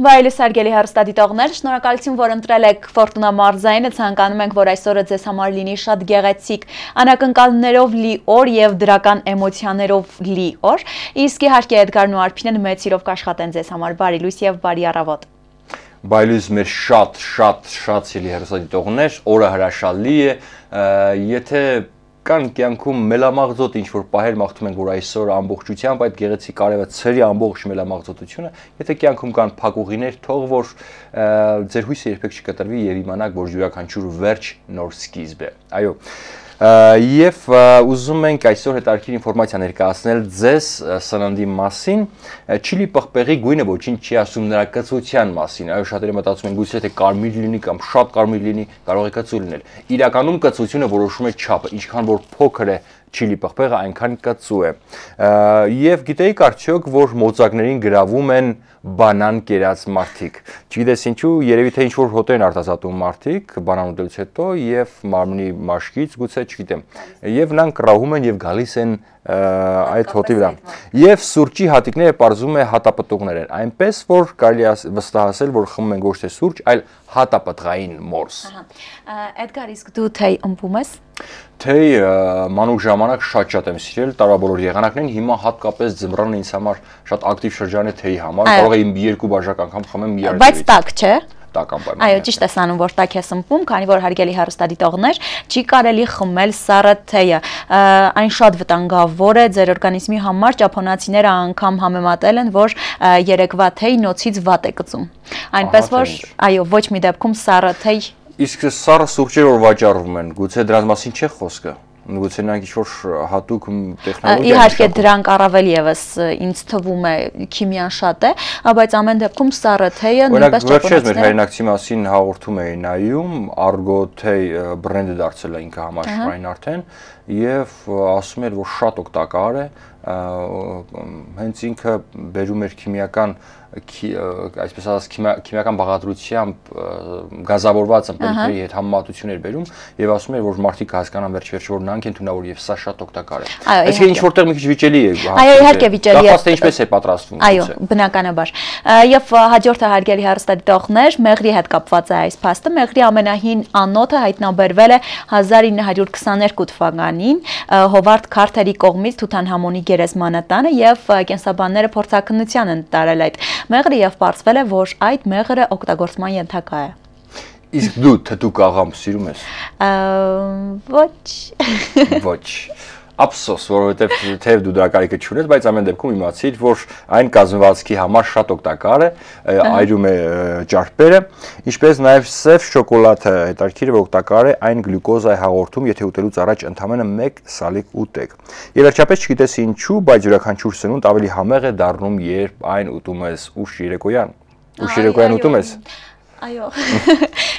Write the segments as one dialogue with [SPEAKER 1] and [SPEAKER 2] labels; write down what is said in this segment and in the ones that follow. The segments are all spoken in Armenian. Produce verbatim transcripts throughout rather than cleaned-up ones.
[SPEAKER 1] Վայելուս հարգելի հեռուստադիտողներ, շնորհակալություն, որ ընտրել եք Ֆորտունա մարզայինը, ցանկանում ենք, որ այսօրը ձեզ համար լինի շատ գեղեցիկ, անակնկալներով լի օր եւ դրական էմոցիաներով լի օր։ Իսկ իհարկե Էդգարն ու Արփինեն մեծ սիրով կաշխատեն ձեզ համար բարի լույս եւ բարի առավոտ։
[SPEAKER 2] Բայլույս մեր շատ շատ շատ սիրելի հեռուստադիտողներ, օրը հրաշալի է, եթե կան կյանքում մելամաղձոտ ինչ-որ պահեր մաղթում ենք, որ այսօր ամբողջությամբ այդ գեղեցիկ արևը ցրի ամբողջ մելամաղձոտությունը, եթե կյանքում կան փակուղիներ, թող որ ձեր հույսը երբեք չկտրվի եւ իմանաք, որ յուրաքանչյուր վերջ նոր սկիզբ է։ Այո։ Եվ ուզում ենք այսօր հետաքրքիր ինֆորմացիա ներկայացնել ձեզ սննդի մասին, չիլի պղպեղի գույնը ոչինչ չի ասում նրա կծության մասին, այո շատերը մտածում են գուցե թե կարմիր լինի կամ շատ կարմիր լինի, կարող է կծու լինել։ Իրականում կծությունը որոշում է չափը, ինչքան որ փոքր է չիլի պղպեղը, այնքան կծու է։ Եվ գիտեիք արդյոք, որ մոծակներին գրավում են բանան կերած մարդիկ։ Չգիտես ինչու, երևի թե ինչ-որ հոտ են արտազատում մարդիկ բանան ուտելուց հետո եւ մարմնի մաշկից, գուցե չգիտեմ։ Եվ նրանք կռահում են եւ գալիս են այդ հոտի վրա։ Եվ սուրճի հատիկները պարզում է հատապտուղներ են, այնպես որ կարելի է վստահել, որ խմում են ոչ թե սուրճ, այլ հատապտղային մորս։
[SPEAKER 1] Էդգար, իսկ դու թեյ ըմբում ես։
[SPEAKER 2] Թեյ մանուկ ժամանակ շատ-շատ եմ սիրել, տարաբոլոր եղանակներին, հիմա հատկապես ձմռանը ինձ համար շատ ակտիվ շրջան է թեյի համար, կարող եմ երկու բաժակ անգամ խմեմ մի առ
[SPEAKER 1] Բայց տաք չէ։
[SPEAKER 2] Այո,
[SPEAKER 1] ճիշտ ես անում, որ տաք ես ըմբում, քանի որ հարգելի հեռուստադիտողներ, չի կարելի խմել սառը թեյը։ Այն շատ վտանգավոր է ձեր օրգանիզմի համար, ճապոնացիները անգամ համեմատել են, որ երեկվա թեյ նոցից վատ է կծում։ Այնպես որ, այո, ոչ մի դեպքում սառը թեյ։
[SPEAKER 2] Իսկ սառը սուրճեր որ վաճառվում են, գուցե դրանց մասին չէ խոսքը։ Գուցե նրանք ինչ-որ հատուկ տեխնոլոգիա։
[SPEAKER 1] Իհարկե դրանք առավել եւս ինձ թվում է քիմիան շատ է, բայց ամեն դեպքում սառը թեյը նույնպես
[SPEAKER 2] ճապոնացիները։ Մեր հայրենակցի մասին հաղորդում էի նայում, Argo թեյ բրենդը դարձել է ինքը համաշխարհային արդեն եւ ասում էր, որ շատ օգտակար է, հենց ինքը բերում էր քիմիական այսպես ասած քիմիական բաղադրությամբ գազավորված ըմպելիքների հետ համեմատություններ բերում եւ ասում էր, որ մարդիկ հասկանան վերջ-վերջ որ նրանք են թունավոր եւ սա շատ օգտակար է։ Այսինքն ինչ որտեղ մի քիչ վիճելի է։
[SPEAKER 1] Այո, իհարկե վիճելի է։
[SPEAKER 2] Կախված թե ինչպես է պատրաստվում։
[SPEAKER 1] Այո, բնականաբար։ Եվ հաջորդը հարգելի հեռուստադիտողներ, մեղրի հետ կապված է այս փաստը։ Մեղրի ամենահին անոթը հայտնաբերվել է հազար ինը հարյուր քսաներկու թվականին Հովարդ Քարթերի կողմից Թութանհամոնի գերեզմանատանը եւ կենսաբանները փորձաքննության են տարել այդ մեղրը եւ պարզվել է, որ այդ մեղրը օգտագործման ենթակա է։
[SPEAKER 2] Իսկ դու թթուկ աղամ սիրում ես։
[SPEAKER 1] Ոչ։
[SPEAKER 2] Ոչ։ Ափսոս, որովհետև թեև դու դրա կարիքը չունես, բայց ամեն դեպքում իմացիր, որ այն կազմվածքի համար շատ օգտակար է, այրում է ճարպերը, ինչպես նաև սև շոկոլադը հետաքրքիր է, որ օգտակար է, այն գլյուկոզա է հաղորդում, եթե ուտելուց առաջ ընդամենը մեկ սալիկ ուտեք։ Եվ վերջապես չգիտես ինչու, բայց յուրաքանչյուր սնունդ ավելի համեղ է դառնում, երբ այն ուտում ես ուշ երեկոյան։ Ուշ երեկոյան ուտում ես։
[SPEAKER 1] Այո,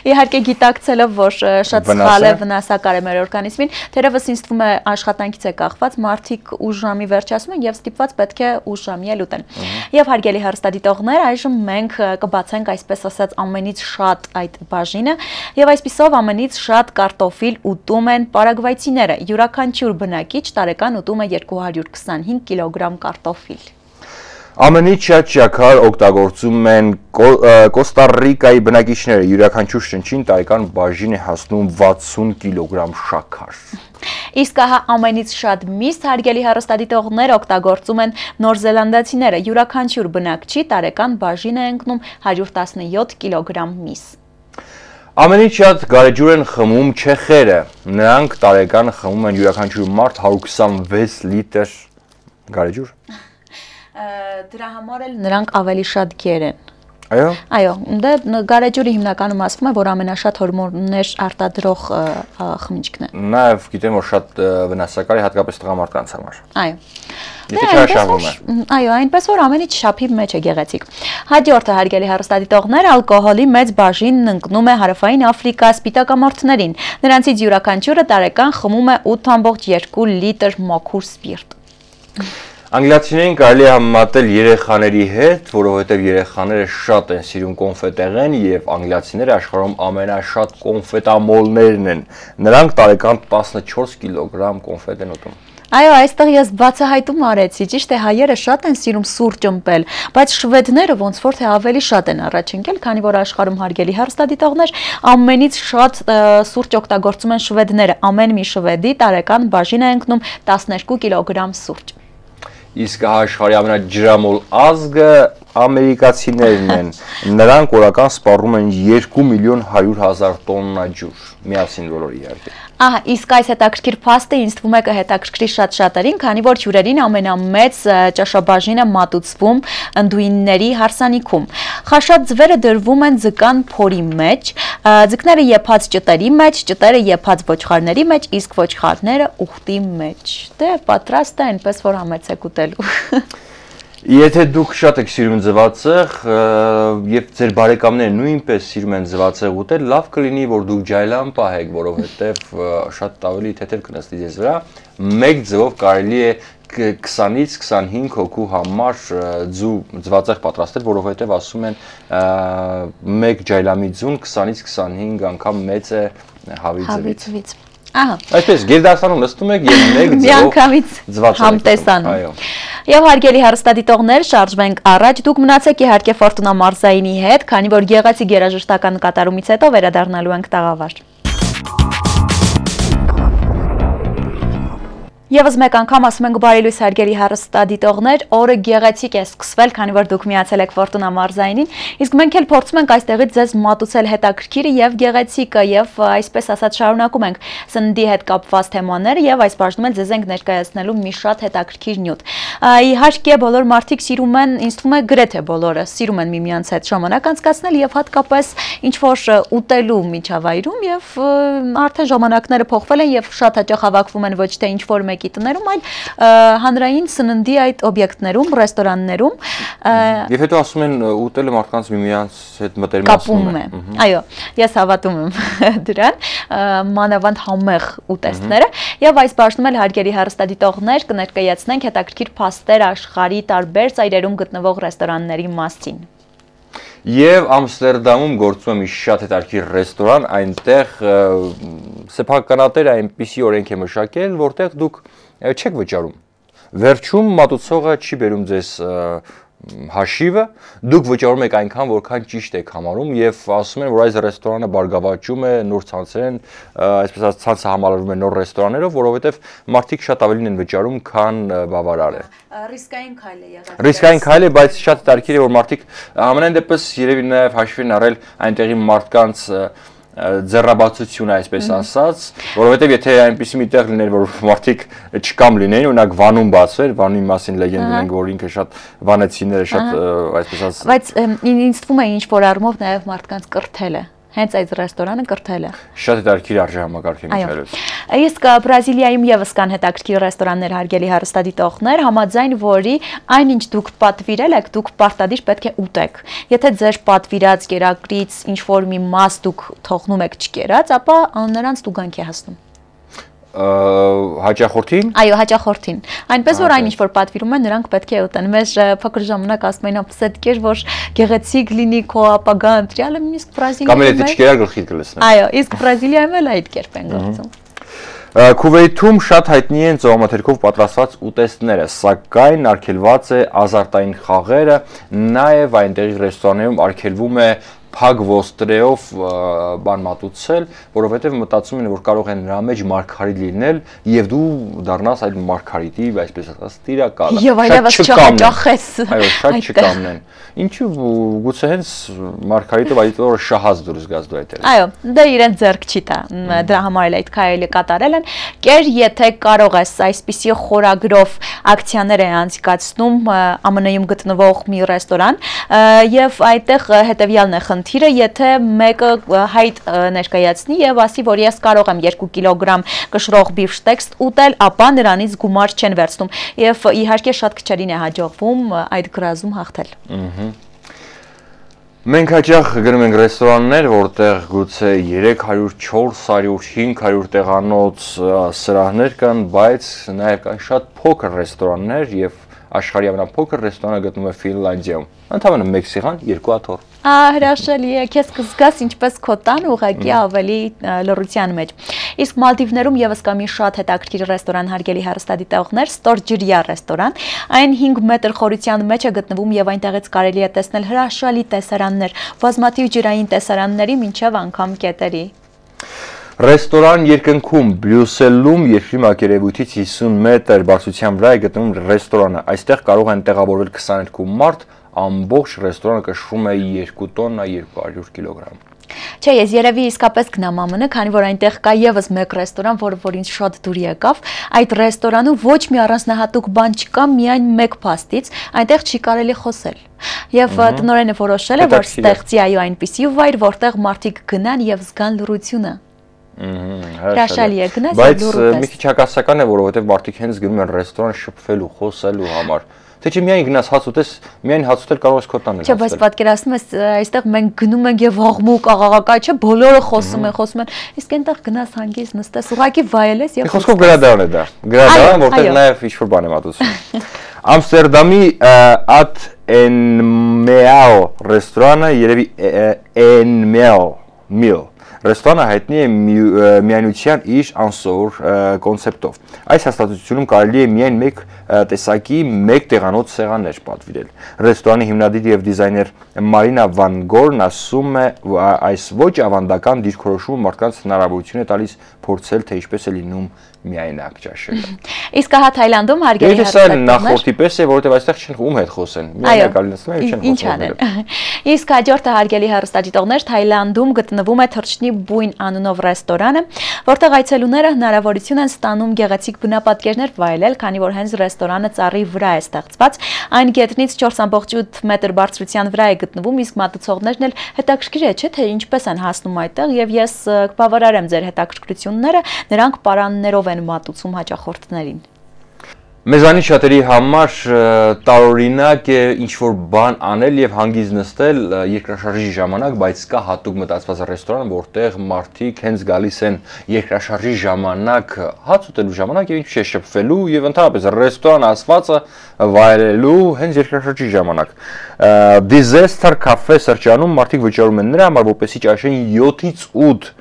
[SPEAKER 1] իհարկե գիտակցելով, որ շատ սխալ է, վնասակար է մեր օրգանիզմին, թերևս ինձ թվում է աշխատանքից է կախված, մարդիկ ուշ ժամի վերջացնում են եւ ստիպված պետք է ուշ ժամի էլ ուտեն։ Եվ հարգելի հեռուստադիտողներ, այժմ մենք կբացենք այսպես ասած ամենից շատ այդ բաժինը եւ այսպիսով ամենից շատ կարտոֆիլ ուտում են պարագվայցիները։ Յուրաքանչյուր բնակիչ տարեկան ուտում է երկու հարյուր քսանհինգ կիլոգրամ կարտոֆիլ։
[SPEAKER 2] Ամենից շատ շաքար օգտագործում են Կոստա-Ռիկայի բնակիչները, յուրաքանչյուր շնչին տարեկան բաժին է հասնում վաթսուն կիլոգրամ շաքար։
[SPEAKER 1] Իսկ ահա ամենից շատ միս հարգելի հեռուստադիտողներ օգտագործում են նորզելանդացիները, յուրաքանչյուր բնակչի տարեկան բաժին է ընկնում հարյուր տասնյոթ կիլոգրամ միս։
[SPEAKER 2] Ամենից շատ գարեջուր են խմում չեխերը, նրանք տարեկան խմում են յուրաքանչյուր մարդ հարյուր քսանվեց լիտր գարեջուր։
[SPEAKER 1] Դրա համար էլ նրանք ավելի շատ գեր են։
[SPEAKER 2] Այո։
[SPEAKER 1] Այո, դե գարեջուրը հիմնականում ասվում է, որ ամենաշատ հորմոններ արտադրող խմիչքն է։
[SPEAKER 2] Նաև գիտեմ, որ շատ վնասակար է հատկապես տղամարդկանց համար։
[SPEAKER 1] Այո։
[SPEAKER 2] Եթե չարշավում է։
[SPEAKER 1] Այո, այնպես որ ամենից շափի մեջ է գեղեցիկ։ Հաջորդը հարգելի հեռուստադիտողներ, ալկոհոլի մեծ բաժինն ընկնում է Հարավային Աֆրիկա սպիտակամորթներին։ Նրանցից յուրաքանչյուրը տարեկան խմում է ութ ամբողջ երկու լիտր մաքուր սպիրտ։
[SPEAKER 2] Անգլիացիներին կարելի է համեմատել երեխաների հետ, որովհետև երեխաները շատ են սիրում կոնֆետեղեն եւ անգլիացիները աշխարհում ամենաշատ կոնֆետամոլներն են։ Նրանք տարեկան տասնչորս կիլոգրամ կոնֆետ են ուտում։
[SPEAKER 1] Այո, այստեղ ես բացահայտում արեցի, ճիշտ է, հայերը շատ են սիրում սուրճ ըմպել, բայց շվեդները ոնց որ թե ավելի շատ են առաջ ընկել, քանի որ աշխարհում հարգելի հեռուստադիտողներ ամենից շատ սուրճ օգտագործում են շվեդները, ամեն մի շվեդի տարեկան բաժին է ընկնում տասներկու կիլոգրամ սուրճ։
[SPEAKER 2] Իսկ աշխարհի ամենաջրամոլ ազգը ամերիկացիներն են, նրանք օրական սպառում են երկու միլիոն հարյուր հազար տոննա ջուր, միասին բոլորը իհարկե։
[SPEAKER 1] Ահա, իսկ այս հետաքրքիր փաստը ինձ թվում է կհետաքրքրի շատ շատերին, քանի որ հյուրերին ամենամեծ ճաշաբաժինը մատուցվում ընդուինների հարսանիքում։ Խաշած ձվերը դրվում են ձկան փորի մեջ, ձկները եփած ճտերի մեջ, ճտերը եփած ոչխարների մեջ, իսկ ոչխարները ուխտի մեջ։ Դե պատրաստ է այնպես որ համեցեք ուտելու։
[SPEAKER 2] Եթե դուք շատ եք սիրում ձվածեղ եւ ձեր բարեկամները նույնպես սիրում են ձվածեղ ուտել, լավ կլինի որ դուք ջայլան պահեք, որովհետեւ շատ ավելի թեթև կնստի ձեզ վրա։ Մեկ ձվով կարելի է քսանից քսանհինգ հոգու համար ձու ձվածեղ պատրաստել, որովհետեւ ասում են մեկ ջայլամի ձուն քսանից քսանհինգ անգամ մեծ է հավի ձվից։
[SPEAKER 1] Ահա։
[SPEAKER 2] Այսպես գերդասանում նստում եք եւ մեկ ձվով
[SPEAKER 1] համտեսանում։ Այո։ Եվ հարգելի հեռուստադիտողներ, շարժվենք առաջ, դուք մնացեք իհարկե Ֆորտունա Մարզայինի հետ, քանի որ գեղեցիկ երաժշտական կատարումից հետո վերադառնալու ենք տաղավար։ Եվս մեկ անգամ ասում ենք բարի լույս հարգելի հեռուստադիտողներ, օրը գեղեցիկ է սկսվել, քանի որ դուք միացել եք Ֆորտունա Մարզայինին, իսկ մենք էլ փորձում ենք այստեղից ձեզ մատուցել հետաքրքիրը եւ գեղեցիկը եւ այսպես ասած շարունակում ենք սննդի հետ կապված թեմաները եւ այս բաժնում էլ ձեզ ենք ներկայացնելու մի շատ հետաքրքիր նյութ։ Իհարկե բոլոր մարդիկ սիրում են, ինձ թվում է գրեթե բոլորը սիրում են միմյանց հետ ժամանակ անցկացնել եւ հատկապես ինչ որ ուտելու միջավայրում եւ արդեն ժամանակները փոխվել են եւ շատ հաճախ հավաքվում են ոչ թե ինչ որ տներում, այլ հանրային սննդի այդ օբյեկտներում, ռեստորաններում։
[SPEAKER 2] Եվ հետո ասում են ուտելը մարդկանց միմյանց հետ մտերմացնում է։
[SPEAKER 1] Այո, ես հավատում եմ դրան, մանավանդ համեղ ուտեստները, եւ այս բաժնում էլ հարգելի հեռուստադիտողներ կներկայացնենք հետաքրքիր փաստեր աշխարհի տարբեր ծայրերում գտնվող ռեստորանների մասին։
[SPEAKER 2] Եվ Ամստերդամում գործում է մի շատ հետաքրքիր ռեստորան, այնտեղ սեփականատերը այնպիսի օրենք է մշակել, որտեղ դուք չեք վճարում։ Վերջում մատուցողը չի բերում ձեզ հաշիվը, դուք վճարում եք այնքան, որքան ճիշտ եք համարում եւ ասում են, որ այս ռեստորանը բարգավաճում է նոր ցանցերեն, այսպես ասած ցանցը համալրվում է նոր ռեստորաններով, որովհետեւ մարդիկ շատ ավելին են վճարում, քան բավարար է։
[SPEAKER 1] Ռիսկային քայլ է եղել։
[SPEAKER 2] Ռիսկային քայլ է, բայց շատ տարբեր է, որ մարդիկ ամենայն դեպս երևի նաեւ հաշվի են առել այնտեղի մարդկանց ձեռաբացությունը, այսպես ասած, որովհետև եթե այնպիսի մի տեղ լիներ, որ մարդիկ չկամ լինեին, օրինակ Վանում բացվեր, Վանի մասին լեգենդ ունենք, որ ինքը շատ վանեցիները շատ այսպես ասած։
[SPEAKER 1] Բայց ինձ թվում է ինչ որ առումով նաև մարդկանց կրթել է։ Հենց այդ ռեստորանը կրթել է։
[SPEAKER 2] Շատ հետաքրքիր արժե համակարգ է միջավայրում։
[SPEAKER 1] Իսկ Բրազիլիայում եւս կան հետաքրքիր ռեստորաններ հարգելի հեռուստադիտողներ, համաձայն որի այնինչ դուք պատվիրել եք, դուք պարտադիր պետք է ուտեք։ Եթե ձեր պատվիրած կերակրից ինչ որ մի մաս դուք թողնում եք չկերած, ապա նրանց տուգանք է հասնում։
[SPEAKER 2] Հաճախորդին։
[SPEAKER 1] Այո, հաճախորդին։ Այնպես որ այնինչ որ պատվիրում են, նրանք պետք է ուտեն։ Մեզ փոքր ժամանակ ասում էին, ապսետ կեր, որ գեղեցիկ լինի քո ապագա ընտրյալը, իսկ Բրազիլիայում։
[SPEAKER 2] Կամ եթե չկերար գլխիդ կլցնեն։
[SPEAKER 1] Այո, իսկ Բրազիլիայում էլ այդ կերպ են գործում։
[SPEAKER 2] Քուվեյթում շատ հայտնի են ծովամթերքով պատրաստված ուտեստները, սակայն արգելված է ազարտային խաղերը, նաև այնտեղի ռեստորաններում արգելվում է փակ ոստրեով բան մատուցել, որովհետև մտածում են, որ կարող են նրա մեջ մարգարիտ լինել եւ դու դառնաս այդ մարգարիտի, այսպես ասած, տիրակալը։
[SPEAKER 1] Եվ այլևս չհաճախես։
[SPEAKER 2] Այո, շատ չկամնեն։ Ինչու գուցե հենց մարգարիտով այդ օրը շահած դուրս գաս դու այդտեղ։
[SPEAKER 1] Այո, դա իրեն ձեռք չի տա։ Դրա համար էլ այդ քայլը կատարել են։ Կեր, եթե կարող ես այսպիսի խորագրով ակցիաներ է անցկացնում ԱՄՆ -ում գտնվող մի ռեստորան, եւ այդտեղ հետեւյալն է խնդիրը, եթե մեկը հայտ ներկայացնի եւ ասի, որ ես կարող եմ երկու կիլոգրամ կշռող բիֆշտեքս ուտել, ապա նրանից գումար չեն վերցնում եւ իհարկե շատ քչերին է հաջողվում այդ գրազում հաղթել։
[SPEAKER 2] Մենք հաճախ գնում ենք ռեստորաններ, որտեղ գուցե երեք հարյուր, չորս հարյուր, հինգ հարյուր տեղանոց սրահներ կան, բայց նաև կան շատ փոքր ռեստորաններ եւ աշխարհի ամենափոքր ռեստորանը գտնվում է Ֆինլանդիայում։ Ընդհանրապես մեկ սեղան, երկու աթոռ։
[SPEAKER 1] Հրաշալի է, քեզ կզգաս ինչպես քո տան ուղղակի ավելի լռության մեջ։ Իսկ Մալդիվներում եւս կա մի շատ հետաքրքիր ռեստորան, հարգելի հեռուստադիտողներ, Storgeria ռեստորան։ Այն հինգ մետր խորության մեջ է գտնվում եւ այնտեղից կարելի է տեսնել հրաշալի տեսարաններ, բազմաթիվ ջրային տեսարանների մինչեւ անգամ կետերի։
[SPEAKER 2] Ռեստորան երկնքում Բրյուսելում երկրի մակերևույթից հիսուն մետր բարձրության վրա է գտնվում ռեստորանը։ Այստեղ կարող են տեղավորվել քսաներկու մարդ, ամբողջ ռեստորանը կշռում է երկու տոննա երկու հարյուր կիլոգրամ։
[SPEAKER 1] Չէ, ես երևի իսկապես գնամ ԱՄՆ, քանի որ այնտեղ կա եւս մեկ ռեստորան, որը որ ինձ շատ դուր եկավ։ Այդ ռեստորանում ոչ մի առանձնահատուկ բան չկա, միայն մեկ փաստից, այնտեղ չի կարելի խոսել։ Եվ տնօրենը որոշել է, որ ստեղծի այո այնպիսի վայր, որտեղ մարդիկ գնան եւ զգան լռությունը։ Հրաշալի է գնաս
[SPEAKER 2] եւ լուռ ես։ Բայց մի քիչ հակասական է, որովհետեւ մարդիկ հենց գնում են ռեստորան շփվելու, խոսելու համար։ Թե չէ միայն գնաս հաց ուտես, միայն հաց ուտել կարող ես քո տանը։
[SPEAKER 1] Չէ, բայց պատկերացնում ես, այստեղ մենք գնում ենք եւ աղմուկ, աղաղակա, չէ, բոլորը խոսում են, խոսում են։ Իսկ այնտեղ գնաս հանգիստ նստես, ուղղակի վայելես եւ
[SPEAKER 2] խոսքով գրադարան է դա։ Գրադարան, որտեղ նաեւ ինչ-որ բան եմ ատուցում։ Ամստերդամի At Enmeao ռեստորանը երևի Enmeao Meal Ռեստորանը հայտնի է միայնության իր անսովոր կոնցեպտով։ Այս հաստատությունում կարելի է միայն մեկ տեսակի մեկ տեղանոց սեղաններ պատվիրել։ Ռեստորանի հիմնադիր եւ դիզայներ Մարինա Վան Գորն ասում է, այս ոչ ավանդական դիրքորոշումը մարդկանց հնարավորություն է տալիս փորձել, թե ինչպես է լինում միայնակ ճաշելը։
[SPEAKER 1] Իսկ հա Թայլանդում հարգելի
[SPEAKER 2] հեռուստատեսներ նախորդի պես է, որովհետև այստեղ չեն ում հետ խոսեն։ Միայնակ ալինացնում են, չեն
[SPEAKER 1] խոսում։ Իսկ հաջորդը հարգելի հեռուստադիտողներ, Թայլանդում գտնվում է Թռչնի բույն անունով ռեստորանը, որտեղ այցելուները հնարավորություն են ստանում գեղեցիկ բնապատկերներ վայելել, քանի որ հենց ռեստորանը ծառի վրա է ստեղծված։ Այն գետնից չորս կόμμα ութ մետր բարձրության վրա է գտնվում, իսկ մատուցողներն էլ հետաքրքիր է, չէ՞, թե ինչպես են հասնում այդտեղ, եւ ես կբավարարեմ ձեր հետաքրքրությունները, նրանք պարաններով են մատուցում հաճախորդներին։
[SPEAKER 2] Մեզանից շատերի համար տարօրինակ է ինչ-որ բան անել եւ հանգիստ նստել երկրաշարժի ժամանակ, բայց կա հատուկ մտածված ռեստորան, որտեղ մարդիկ հենց գալիս են երկրաշարժի ժամանակ հաց ուտելու ժամանակ եւ ինչ-որ շփվելու եւ ընդհանրապես ռեստորան ասվածը վայելելու հենց երկրաշարժի ժամանակ։ Disaster Cafe սրճարանում մարդիկ վճարում են նրա համար, որպեսզի ճաշեն յոթից ութ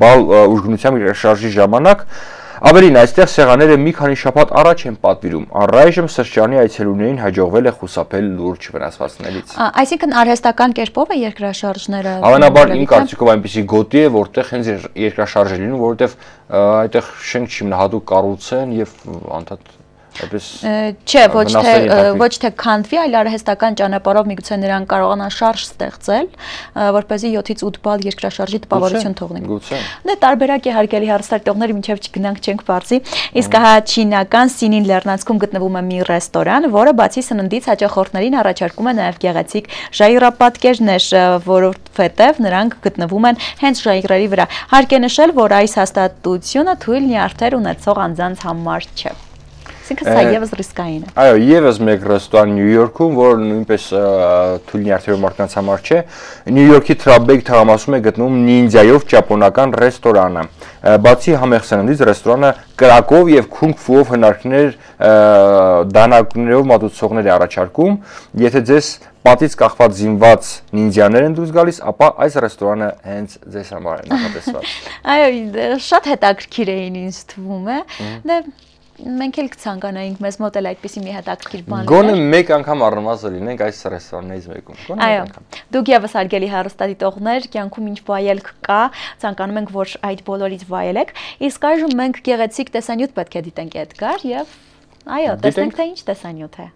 [SPEAKER 2] բալ ուժգնությամբ երկրաշարժի ժամանակ։ Ավելին, այստեղ սեղանները մի քանի շաբաթ առաջ են պատվիրում։ Առայժմ սրճարանի այցելուներին հաջողվել է խուսափել լուրջ վնասվածքներից։
[SPEAKER 1] Այսինքն արհեստական կերպով է երկրաշարժները։
[SPEAKER 2] Հավանաբար իմ կարծիքով այնպեսի գոտի է, որտեղ հենց երկրաշարժ է լինում, որովհետև այդտեղ շենք չի հատուկ կառուցեն եւ անդադ այդպես
[SPEAKER 1] չէ, ոչ թե ոչ թե քանդվի, այլ արհեստական ճանապարհով միգուցե նրանք կարողանան շարժ ստեղծել, որպեսզի յոթից ութ բալ երկրաշարժի տպավորություն թողնի։ Դե տարբերակ է հարգելի հեռուստատիտողներ, մինչև չգնանք չենք բարձի։ Իսկ հա չինական Սինին լեռնանցքում գտնվում է մի ռեստորան, որը բացի սննդից հաճախորդներին առաջարկում է նաև գեղեցիկ ժայռապատկերներ, որովհետև նրանք գտնվում են հենց ժայռերի վրա։ Հարկ է նշել, որ այս հաստատությունը թույլ նյարդեր ունեցող անձանց համար չէ։ Այսինքն սա եւս ռիսկային է։
[SPEAKER 2] Այո, եւս մեկ ռեստորան Նյու Յորքում, որը նույնպես թույլ նյարդերով մարդկանց համար չէ, Նյու Յորքի Թրաբեկ թաղամասում է գտնվում նինդզայով ճապոնական ռեստորանը։ Բացի համեղ սննդից ռեստորանը կրակով եւ քունգ ֆուով հնարքներ դանակներով մատուցողներ է առաջարկում։ Եթե ձեզ պատից կախված զինված նինդզյաներ են դուրս գալիս, ապա այս ռեստորանը հենց ձեզ համար է նախատեսված։
[SPEAKER 1] Այո, շատ հետաքրքիր էին ինձ թվում է։ Դե մենք էլ կցանկանայինք մեզ մոտ էլ այդպիսի մի հետաքրքիր բան լիներ։
[SPEAKER 2] Գոնե մեկ անգամ առնվազն լինենք այս ռեստորաններից մեկում։ Գոնե մեկ անգամ։
[SPEAKER 1] Դուք եւս հարգելի հեռուստադիտողներ, կյանքում ինչ վայելք կա, ցանկանում ենք, որ այդ բոլորից վայելեք։ Իսկ այժմ մենք գեղեցիկ տեսանյութ պետք է դիտենք Էդգար եւ այո, տեսնենք թե ինչ տեսանյութ է։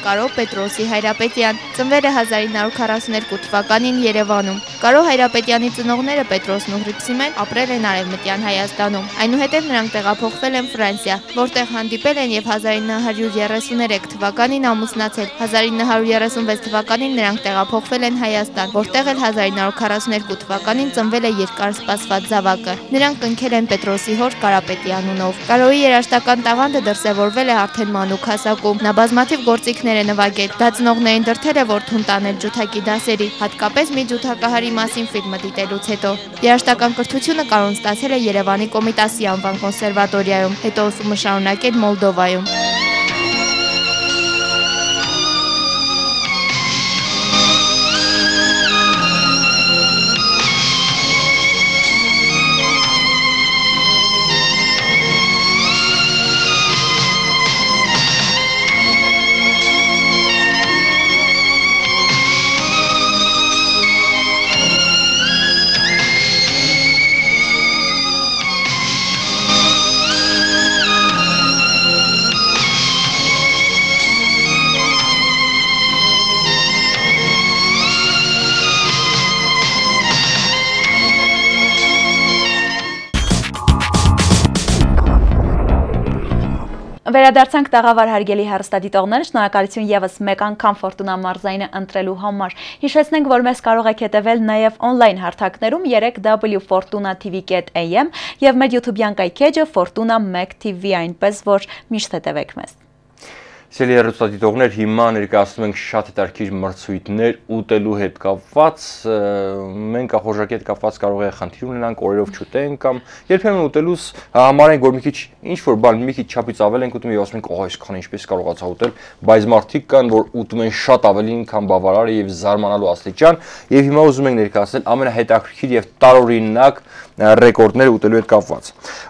[SPEAKER 3] Կարո Պետրոսի Հայրապետյան, ծնվել է հազար ինը հարյուր քառասունութ թվականին Երևանում։ Կարո Հայրապետյանի ծնողները Պետրոսն ու Հռիփսիմեն ապրել են Արևմտյան Հայաստանում։ Այնուհետև նրանք տեղափոխվել են Ֆրանսիա, որտեղ հանդիպել են եւ հազար ինը հարյուր երեսուներեք թվականին ամուսնացել։ հազար ինը հարյուր երեսունվեց թվականին նրանք տեղափոխվել են Հայաստան, որտեղ էլ հազար ինը հարյուր քառասունութ թվականին ծնվել է երկար սպասված զավակը։ Նրանք կնքել են Պետրոսի հոր Կարապետի անունով։ Կարոյի երաժշտական տաղանդը դրսևորվել է արդեն մանուկ հասակում։ Նա բազմաթիվ գործիքներ է նվագել։ Դա ծնողներին դրդել է որդուն տանել ջութակի դասերի, հատկապես մի ջութակահարի մասին ֆիլմը դիտելուց հետո։ Երաժշտական կրթությունը Կարոն ստացել է Երևանի Կոմիտասի անվան կոնսերվատորիայում, հետո ուսումը շարունակել Մոլդովայում։
[SPEAKER 1] Վերադարձանք տաղավար հարգելի հեռուստադիտողներ, շնորհակալություն եւս մեկ անգամ Ֆորտունա մարզայինը ընտրելու համար։ Հիշեցնենք, որ մեզ կարող եք հետևել նաեւ on-line հարթակներում երեք w fortuna t v dot a m եւ մեր YouTube-յան կայքեջը Fortuna մեկ T V, այնպես որ միշտ հետևեք մեզ։
[SPEAKER 2] Սիրելի հեռուստադիտողներ, հիմա ներկայացնում ենք շատ հետաքրքիր մրցույթներ ուտելու հետ կապված, մենք ախորժակի հետ կապված կարող է խնդիր ունենանք, օրերով չուտենք կամ երբեմն ուտելուց համարենք, որ մի քիչ ինչ-որ բան մի քիչ չափից ավել ենք ուտում եւ ասում ենք, օ, այսքան ինչպես կարողացա ուտել, բայց մարդիկ կան, որ ուտում են շատ ավելին, քան բավարար է եւ զարմանալու աստիճան, եւ հիմա ուզում ենք ներկայացնել ամենահետաքրքիր եւ տարօրինակ ռեկորդներ ուտելու հետ կապված։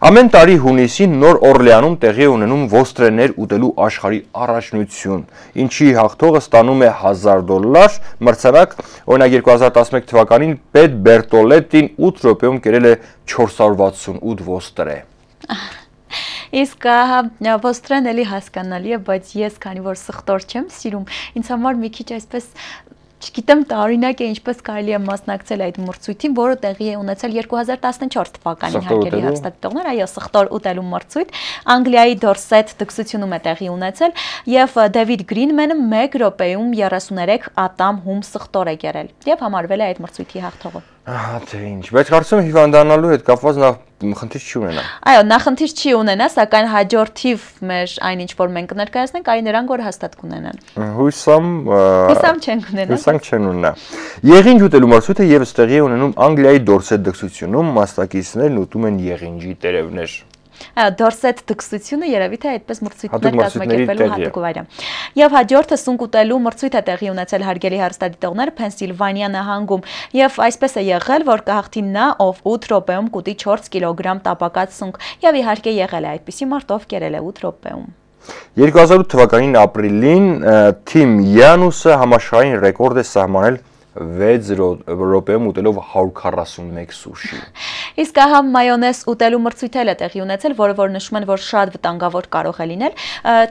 [SPEAKER 2] Ամեն տարի հունիսին Նոր Օրլեանում տեղի ունենում ոստրեներ ուտելու աշխարհի առաջնություն, ինչի հաղթողը ստանում է հազար դոլար, մրցանակ, օրինակ երկու հազար տասնմեկ թվականին Պետ Բերտոլետին ութ րոպեում կերել է չորս հարյուր վաթսունութ ոստրե։
[SPEAKER 1] Իսկ ոստրեն էլի հասկանալի է, բայց ես քանի որ սխտոր չեմ սիրում, ինձ համար մի քիչ այսպես չգիտեմ տարօրինակ է ինչպես կարելի է մասնակցել այդ մրցույթին, որը տեղի է ունեցել երկու հազար տասնչորս թվականին հարգելի հեռուստադիտողներ, այո, սխտոր ուտելու մրցույթ Անգլիայի Դորսեթ դքսությունում է տեղի ունեցել եւ Դեվիդ Գրինմենը մեկ րոպեում երեսուներեք ատամ հում սխտոր է կերել եւ համարվել է այդ մրցույթի հաղթողը։
[SPEAKER 2] Ահա թե ինչ, բայց կարծում եմ հիվանդանալու հետ կապված նա խնդիր չի ունենա։
[SPEAKER 1] Այո, նա խնդիր չի ունենա, սակայն հաջորդիվ մեր այն ինչ որ մենք կներկայացնենք, այն նրանք որ հաստատ կունենան։
[SPEAKER 2] Հույսամ
[SPEAKER 1] Հույսամ չեն ունենա։
[SPEAKER 2] Հույսամ չեն ունենա։ Եղինջ ուտելու մրցույթը եւս տեղի է ունենում Անգլիայի Դորսեթ դքսությունում, մասնակիցներն ուտում են եղինջի տերևներ։
[SPEAKER 1] Այո, Դորսեթ դքսությունը երևի թե այդպես մրցույթներ կազմակերպելու հատուկ վայր է։ Եվ հաջորդը սունկ ուտելու մրցույթ է տեղի ունեցել հարգելի հեռուստադիտողներ Փենսիլվանիա նահանգում, եւ այսպես է եղել, որ կհաղթի նա, ով ութ րոպեում կուտի չորս կիլոգրամ տապակած սունկ, եւ իհարկե եղել է այդպիսի մարդ, ով կերել է ութ րոպեում։
[SPEAKER 2] երկու հազար ութ թվականին ապրիլին Թիմ Յանուսը համաշխարհային ռեկորդ է սահմանել վեց րոպեում ուտելով հարյուր քառասունմեկ սուշի։
[SPEAKER 1] Իսկ ահա մայոնեզ ուտելու մրցույթ է տեղի ունեցել, որը որ նշում են, որ շատ վտանգավոր կարող է լինել։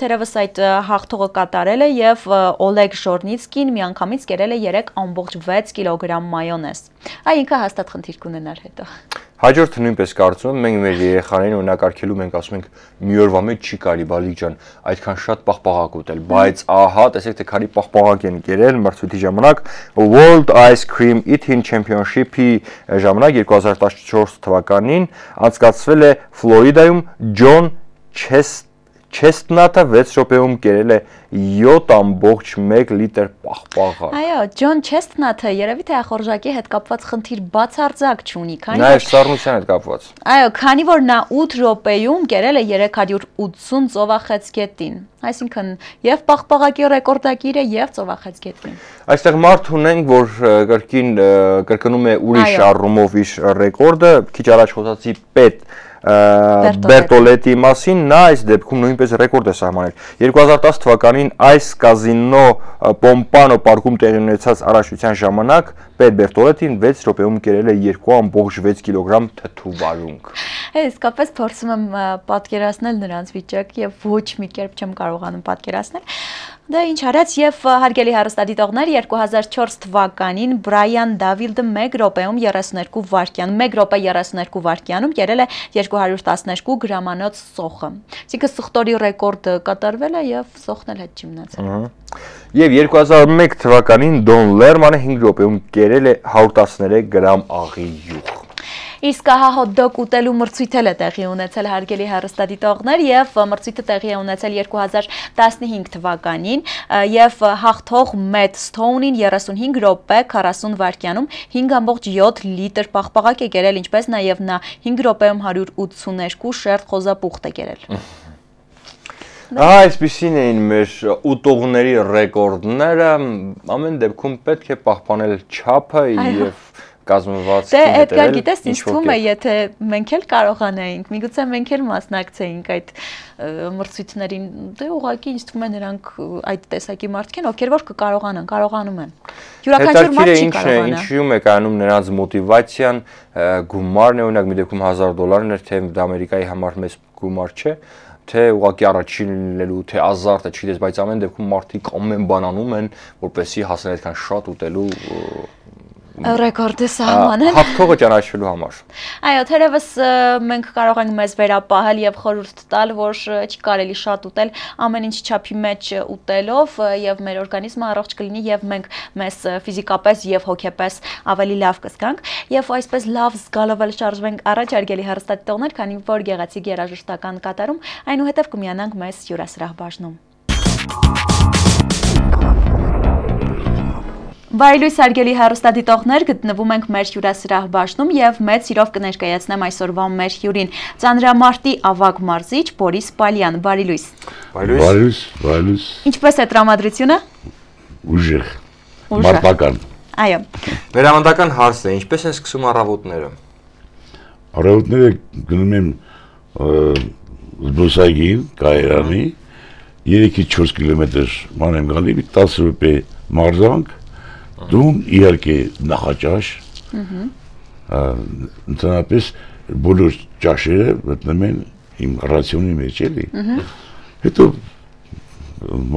[SPEAKER 1] Թերևս այդ հաղթողը կատարել է եւ Օլեգ Ժորնիցկին միանգամից կերել է երեք ամբողջ վեց կիլոգրամ մայոնեզ։ Այ ինքը հաստատ խնդիր կունենար հետո։
[SPEAKER 2] Հաջորդը նույնպես կարծում եմ, մենք մեր երեխաներին օրինակ արգելում ենք, ասում ենք մի օրվա մեջ չի կարելի բալիկ ջան, այդքան շատ պաղպաղակ ուտել, բայց ահա, տեսեք թե քանի պաղպաղակ են կերել մրցույթի ժամանակ World Ice Cream Eating Championship-ի ժամանակ երկու հազար տասնչորս թվականին անցկացվել է Ֆլորիդայում Ջոն Չեստնաթը վեց րոպեում կերել է յոթ ամբողջ մեկ լիտր պաղպաղակ։
[SPEAKER 1] Այո, Ջոն Չեստնաթը երևի թե ախորժակի հետ կապված խնդիր բացարձակ չունի, քանի
[SPEAKER 2] որ սառնության հետ կապված։
[SPEAKER 1] Այո, քանի որ նա ութ րոպեում կերել է երեք հարյուր ութսուն ծովախեցգետին, այսինքն եւ պաղպաղակի ռեկորդակիր է եւ ծովախեցգետին։
[SPEAKER 2] Այստեղ մարդ ունենք, որ կրկին կրկնում է ուրիշ առումով իր ռեկորդը, քիչ առաջ խոսացի Պետ Բերտոլետի մասին, նա այս դեպքում նույնպես ռեկորդ է սահմանել։ երկու հազար տասը թվականին այս կազինո Պոմպանո պարկում տեղի ունեցած առաջնության ժամանակ Պետ Բերտոլետին վեց րոպեում կերել է երկու ամբողջ վեց կիլոգրամ թթու վարունգ։
[SPEAKER 1] Հե, իսկապես փորձում եմ պատկերացնել նրանց վիճակը եւ ոչ մի կերպ չեմ կարողանում պատկերացնել։ Դա ինչ արած եւ հարգելի հեռուստադիտողներ երկու հազար չորս թվականին Բրայան Դավիլդը մեկ րոպեում երեսուներկու վայրկյանում մեկ րոպե երեսուներկու վայրկյանում կերել է երկու հարյուր տասներկու գրամանոց սոխը։ Այսինքն սխտորի ռեկորդը կատարվել է եւ սոխն էլ հետ չի մնացել։
[SPEAKER 2] Եվ երկու հազար մեկ թվականին Դոն Լերմանը հինգ րոպեում կերել է հարյուր տասներեք գրամ աղի յուղ։
[SPEAKER 1] Իսկ հա հոտ-դոգ ուտելու մրցույթ էլ է տեղի ունեցել հարգելի հեռուստադիտողներ եւ մրցույթը տեղի է ունեցել երկու հազար տասնհինգ թվականին եւ հաղթող Մեթ Սթոունին երեսունհինգ րոպե քառասուն վայրկյանում հինգ ամբողջ յոթ լիտր պաղպաղակ է կերել, ինչպես նաեւ նա հինգ րոպեում հարյուր ութսուներկու շերտ խոզապուխտ է կերել։
[SPEAKER 2] Այսպիսին էին մեր ուտողների ռեկորդները, ամեն դեպքում պետք է պահպանել չափը եւ կազմվածքի
[SPEAKER 1] հետևել։ Դե Էդգար, գիտես, ինձ թվում է, եթե մենք էլ կարողանայինք, միգուցե մենք էլ մասնակցեինք այդ մրցույթներին, դե ուղղակի ինձ թվում է նրանք այդ տեսակի մարդիկ են, ովքեր որ կկարողանան, կարողանում են։ Յուրաքանչյուր մարդ չի կարողանա։
[SPEAKER 2] Ինչու՞մ է կայանում նրանց մոտիվացիան, գումարն է, օրինակ մի դեպքում հազար դոլարն էր, թե դա Ամերիկայի համար մեծ գումար չէ, թե ուղղակի առաջին լինելու, թե ազարտը, չգիտես, բայց ամեն դեպքում մարդիկ ամեն բան անում են, որպեսզի հասնեն այդքան շատ ուտելու
[SPEAKER 1] ռեկորդը սահմանել
[SPEAKER 2] հաղթողը ճանաչվելու համար։
[SPEAKER 1] Այո, թերևս մենք կարող ենք մեզ վերապահել եւ խորհուրդ տալ, որ չի կարելի շատ ուտել, ամեն ինչ չափի մեջ ուտելով եւ մեր օրգանիզմը առողջ կլինի եւ մենք մեզ ֆիզիկապես եւ հոգեպես ավելի լավ կզգանք եւ այսպես լավ զգալով էլ շարժվենք առաջ հարգելի հեռուստադիտողներ, քանի որ գեղեցիկ երաժշտական կատարում այնուհետեւ կմիանանք մեզ հյուրասրահ բաժնում։ Բարելույս հարգելի հեռուստադիտողներ, գտնվում ենք մեր հյուրասրահ բաժնում եւ մեծ սիրով կներկայացնեմ այսօրվա մեր հյուրին ծանրամարտի ավագ մարզիչ Բորիս Պալյան, բարելույս։
[SPEAKER 4] Բարելույս, բարելույս։
[SPEAKER 1] Ինչպես է տրամադրությունը։
[SPEAKER 4] Ուժեղ, մարտական։
[SPEAKER 1] Այո։
[SPEAKER 2] Վերամանդական հարց է, ինչպես են սկսում առավոտները։
[SPEAKER 4] Առավոտները գնում եմ զբոսայգին, Կայարանի, երեքից չորս կիլոմետր ման եմ գալի, տասը րոպե մարզանք, դուն իհարկե նախաճաշ, ընդհանրապես բոլոր ճաշերը մտնում են իմ ռացիոնի մեջ էլի, հետո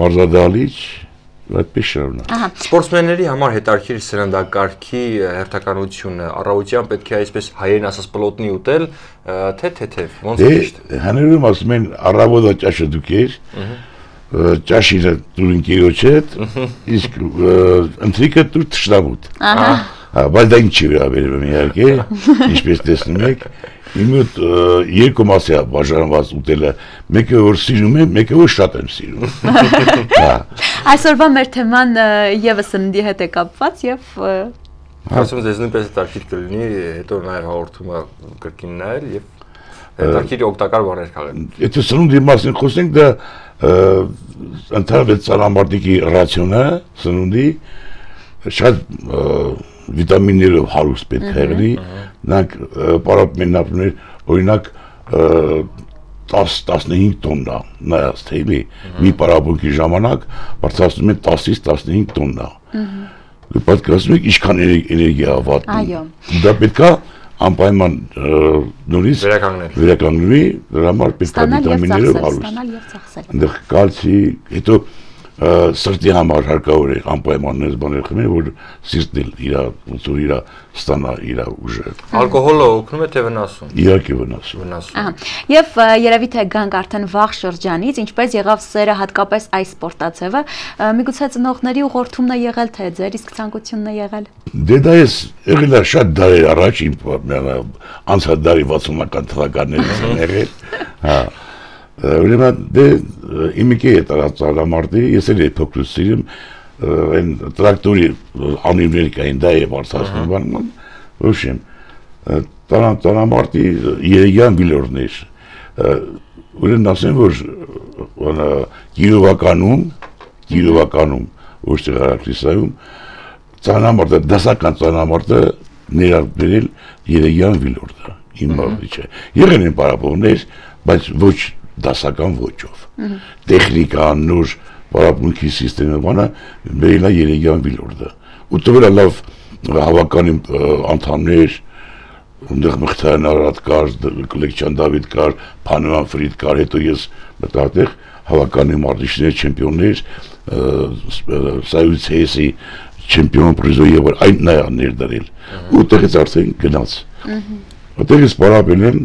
[SPEAKER 4] մարզադահլիճ, այդպես շարունակ։
[SPEAKER 2] Սպորտսմենների համար հետաքրքիր սննդակարգի հերթականությունը, առավոտյան պետք է այսպես հայերեն ասած պլոտնի ուտել, թե թեթև, ոնց է ճիշտ։
[SPEAKER 4] Հանրում ասում են առավոտը ճաշը դուք էր, ճաշինը դուր ընկերոջ հետ, իսկ ընթրիկը դուր թշնամուտ։ Բայց դա ինչի վերաբերում իհարկե, ինչպես տեսնում եք, իմ մոտ երկու մասի է բաժանված ուտելը, մեկը որ սիրում եմ, մեկը որ շատ եմ սիրում։
[SPEAKER 1] Այսօրվա մեր թեման եւս սննդի հետ է կապված եւ
[SPEAKER 2] ասում եմ, ձեզ նույնպես հետաքրքիր կլինի, հետո նաեւ հաղորդումը կրկին նայել եւ հետաքրքիր օգտակար բաներ քաղել։
[SPEAKER 4] Եթե սնունդի մասին խոսենք, դա ընդհանրապես ծանրամարտիկի ռացիոնը, սնունդի շատ վիտամիններով հարուստ պետք է եղնի, նրանք պարապում են ապրուներ, օրինակ տասը տասնհինգ տոննա, նայած թե էլի, մի պարապմունքի ժամանակ բարձրացնում են տասից տասնհինգ տոննա։ Պատկերացնում եք ինչքան էներգիա վատնում։ Դա պետք է անպայման նորից վերականգնվի, դրա համար պետք է վիտամիններով հարուստ։ Այնտեղ կալցի, հետո սրտի համար հարկավոր է անպայման նույնս բաներ խմել, որ սիրտն էլ իր ոնց որ իր ստանա իր ուժը։
[SPEAKER 2] Ալկոհոլը օգնում է թե վնասում։
[SPEAKER 4] Իհարկե վնասում։
[SPEAKER 2] Վնասում։
[SPEAKER 1] Եվ երևի թե գանք արդեն վաղ շրջանից, ինչպես եղավ սերը հատկապես այս սպորտաձևը, միգուցե ծնողների ուղղորդումն է եղել, թե ձեր իսկ ցանկությունն է եղել։
[SPEAKER 4] Դե դա էս եղել է շատ դարեր առաջ, անցած դարի վաթսունական թվականներից են եղել։ Հա։ Ուրեմն դե իմիկի է ծանրամարտի, ես էլ փոքրուց սիրում այն տրակտորի անիվներ կային, դա է բարձրացնում բան, ոչմ ծանրամարտի երեգյան վիլորներ, ուրեմն ասեմ, որ գիրովականում, գիրովականում, ոչ թե Հարաքրիսայում, ծանրամարտը, դասական ծանրամարտը ներառվել երեգյան վիլորդը, իմ մարզիչը, եղել են պարապողներ, բայց ոչ դասական ոճով, տեխնիկան, նոր պարապմունքի սիստեմը բանը բերել է երեգյան վիլորդը, ու տվել է լավ հավականի անդամներ, ընդեղ Մղթայան Արարատ կար, Կլեկչյան Դավիթ կար, Փանոյան Ֆրիդ կար, հետո ես մտա այդտեղ հավականի մարզիչներ, չեմպիոններ, Սայուց հեսի չեմպիոն պրիզը եւ այն նայա ներդրել ու տեղից արդեն գնաց այդտեղից պարապել եմ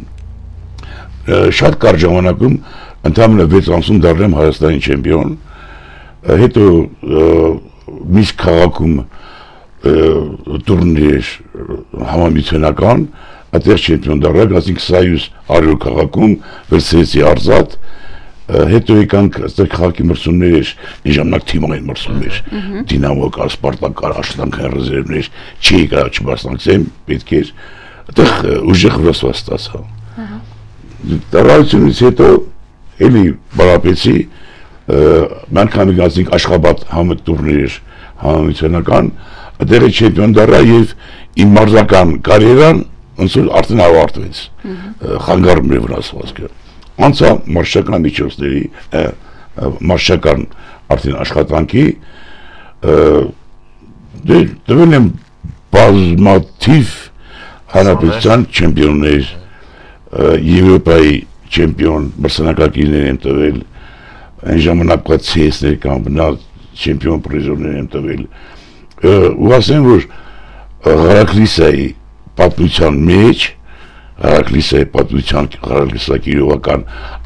[SPEAKER 4] շատ կարճ ժամանակում ընդամենը վեց ամսում դառնեմ Հայաստանի չեմպիոն հետո միշտ քաղաքում տուրնիր համամիությունական այդտեղ չեմպիոն դառնա ասենք Սայուց հարյուր քաղաքում վերցրեցի արծաթ հետո եկանք այստեղ քաղաքի մրցումներ էր այն ժամանակ թիմային մրցումներ Դինամո կար Սպարտակ կար աշխատանքային ռեզերվներ չի գա չմասնակցեմ պետք էր այդտեղ ուժեղ վրացված ստացա դարայությունից հետո էլի բարապեցի մանքամի գազինք Աշխաբադ համը տուրնիր համամիությունական այդտեղ չեմպիոն դառա եւ իմ մարզական կարիերան ոնց որ արդեն ավարտվեց խանգարում էր վրացվածքը անցա մարշական միջոցների մարշական արդեն աշխատանքի դվել եմ բազմաթիվ հանրապետության չեմպիոններ Եվրոպայի չեմպիոն մրցանակակիրներ եմ տվել այն ժամանակվա ցի էս-ներ կամ բնալ չեմպիոն պրիզորներ եմ տվել ու ասեմ որ Ղարաքլիսայի պատմության մեջ Ղարաքլիսայի պատմության Ղարաքլիսակիրովական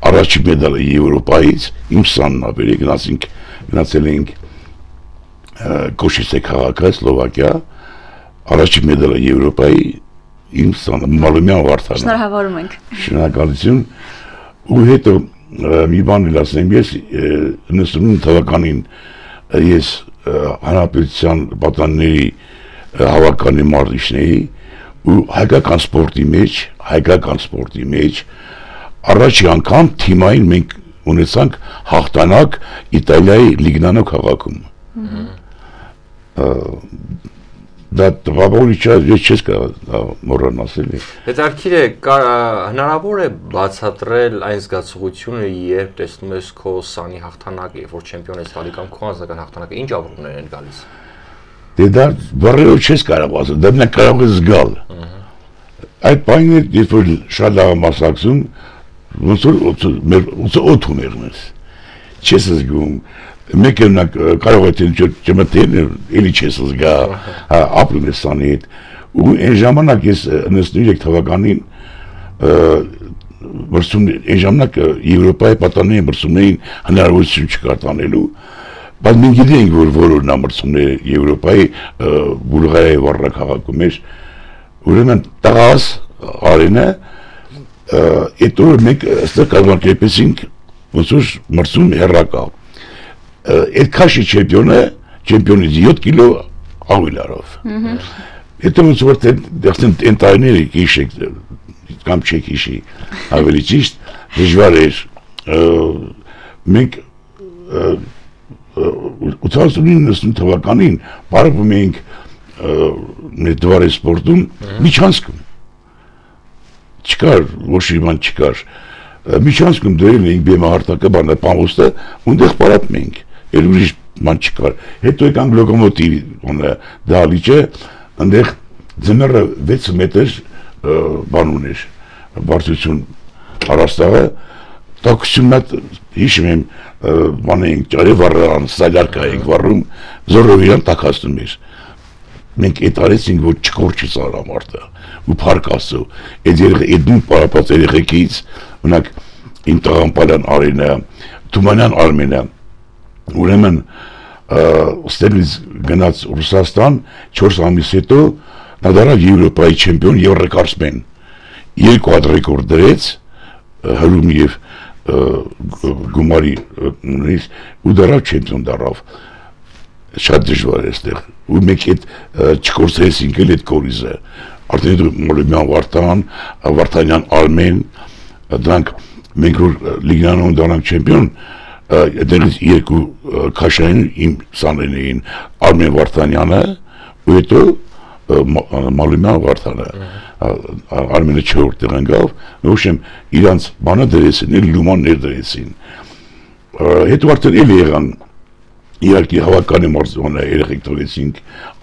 [SPEAKER 4] առաջի մեդալը Եվրոպայից իմ սանն ապերի գնացինք գնացել էինք Կոշիցե քաղաքը Սլովակիա առաջի մեդալը Եվրոպայի իմ սանը Մալումյան Վարդանը
[SPEAKER 1] շնորհավորում ենք
[SPEAKER 4] շնորհակալություն ու հետո մի բան էլ ասեմ ես իննսունինը թվականին ես հանրապետության պատանների հավաքանի մարզիչն էի ու հայկական սպորտի մեջ հայկական սպորտի մեջ առաջի անգամ թիմային մենք ունեցանք հաղթանակ Իտալիայի Լիգնանո քաղաքում դա տղավորիչա ես չես կարող մոռանալ ասել
[SPEAKER 2] հետաքրքիր է հնարավոր է բացատրել այն զգացողությունը երբ տեսնում ես քո սանի հաղթանակը երբ որ չեմպիոն ես տալի կամ քո անձնական հաղթանակը ինչ ապրումներ են գալիս
[SPEAKER 4] դե դա բառերով չես կարող ասել դա մենակ կարող ես զգալ այդ բանը երբ որ շատ լավ մասնակցում ոնց որ մեր օդ ուներ մեզ չես զգում մեկը կարող է չմտել էլի չես զգա ապրում ես սանի հետ ու այն ժամանակ ես իննսունինը թվականին մրցում այն ժամանակ Եվրոպայի պատանների մրցումներին հնարավորություն չկար տանելու բայց մենք գիտենք որ որոնա մրցումները Եվրոպայի Բուլղարիայի Վարդա քաղաքում էր ուրեմն տղաս արենը այդ օրը մենք այստեղ կազմակերպեցինք ոնց որ մրցում հեռակա այդ քաշի չեմպիոնը չեմպիոնից յոթ կիլո ավելարով հետո ոնց որ դեռ այն տարիները հիշեք կամ չեք հիշի ավելի ճիշտ դժվար էր մենք ութանասունինը թվականին բարվում էինք մեր դվարի սպորտում միջանցքում չկար ոչ իման չկար միջանցքում դրել էինք բեմահարտակը բանը պամոստը ունդեղ պարապում էինք էլ ուրիշ ման չկար հետո եկանք լոկոմոտիվ դահլիճը այնտեղ ձմեռը վեց մետր բան ուներ բարձրություն առաստաղը տաքսյունատ հիշում եմ բան էինք ճարի վառան սալյարկա էինք վառում զորով իրան տաքացնում էր մենք այդ արեցինք որ չկորչի ծարամարտը ու փառք Աստծո այդ երեք դու պարապած երեխեքից մենակ իմ տղամպալյան Արինը Թումանյան Արմենը ուրեմն ստելից գնաց Ռուսաստան չորս ամիս հետո նա դառավ Եվրոպայի չեմպիոն եւ ռեկորդսմեն երկու հատ ռեկորդ դրեց հրում եւ գումարի ու դառավ չեմպիոն դառավ շատ դժվար է այստեղ ու մենք այդ չկորցրեցինք էլ այդ կորիզը արդեն Մոլոմյան Վարդան Վարդանյան Արմեն դրանք մենք որ Լիգնանոն դառնանք չեմպիոն դրանից երկու քաշային իմ սաներն էին Արմեն Վարդանյանը ու հետո Մոլոմյան Վարդանը Արմենը չորրորդ տեղ ընկավ նշեմ իրանց բանը դրեցին լումաններ դրեցին հետո արդեն էլ եղան իհարկե հավաքանի մարզոնը երեխեք թողեցինք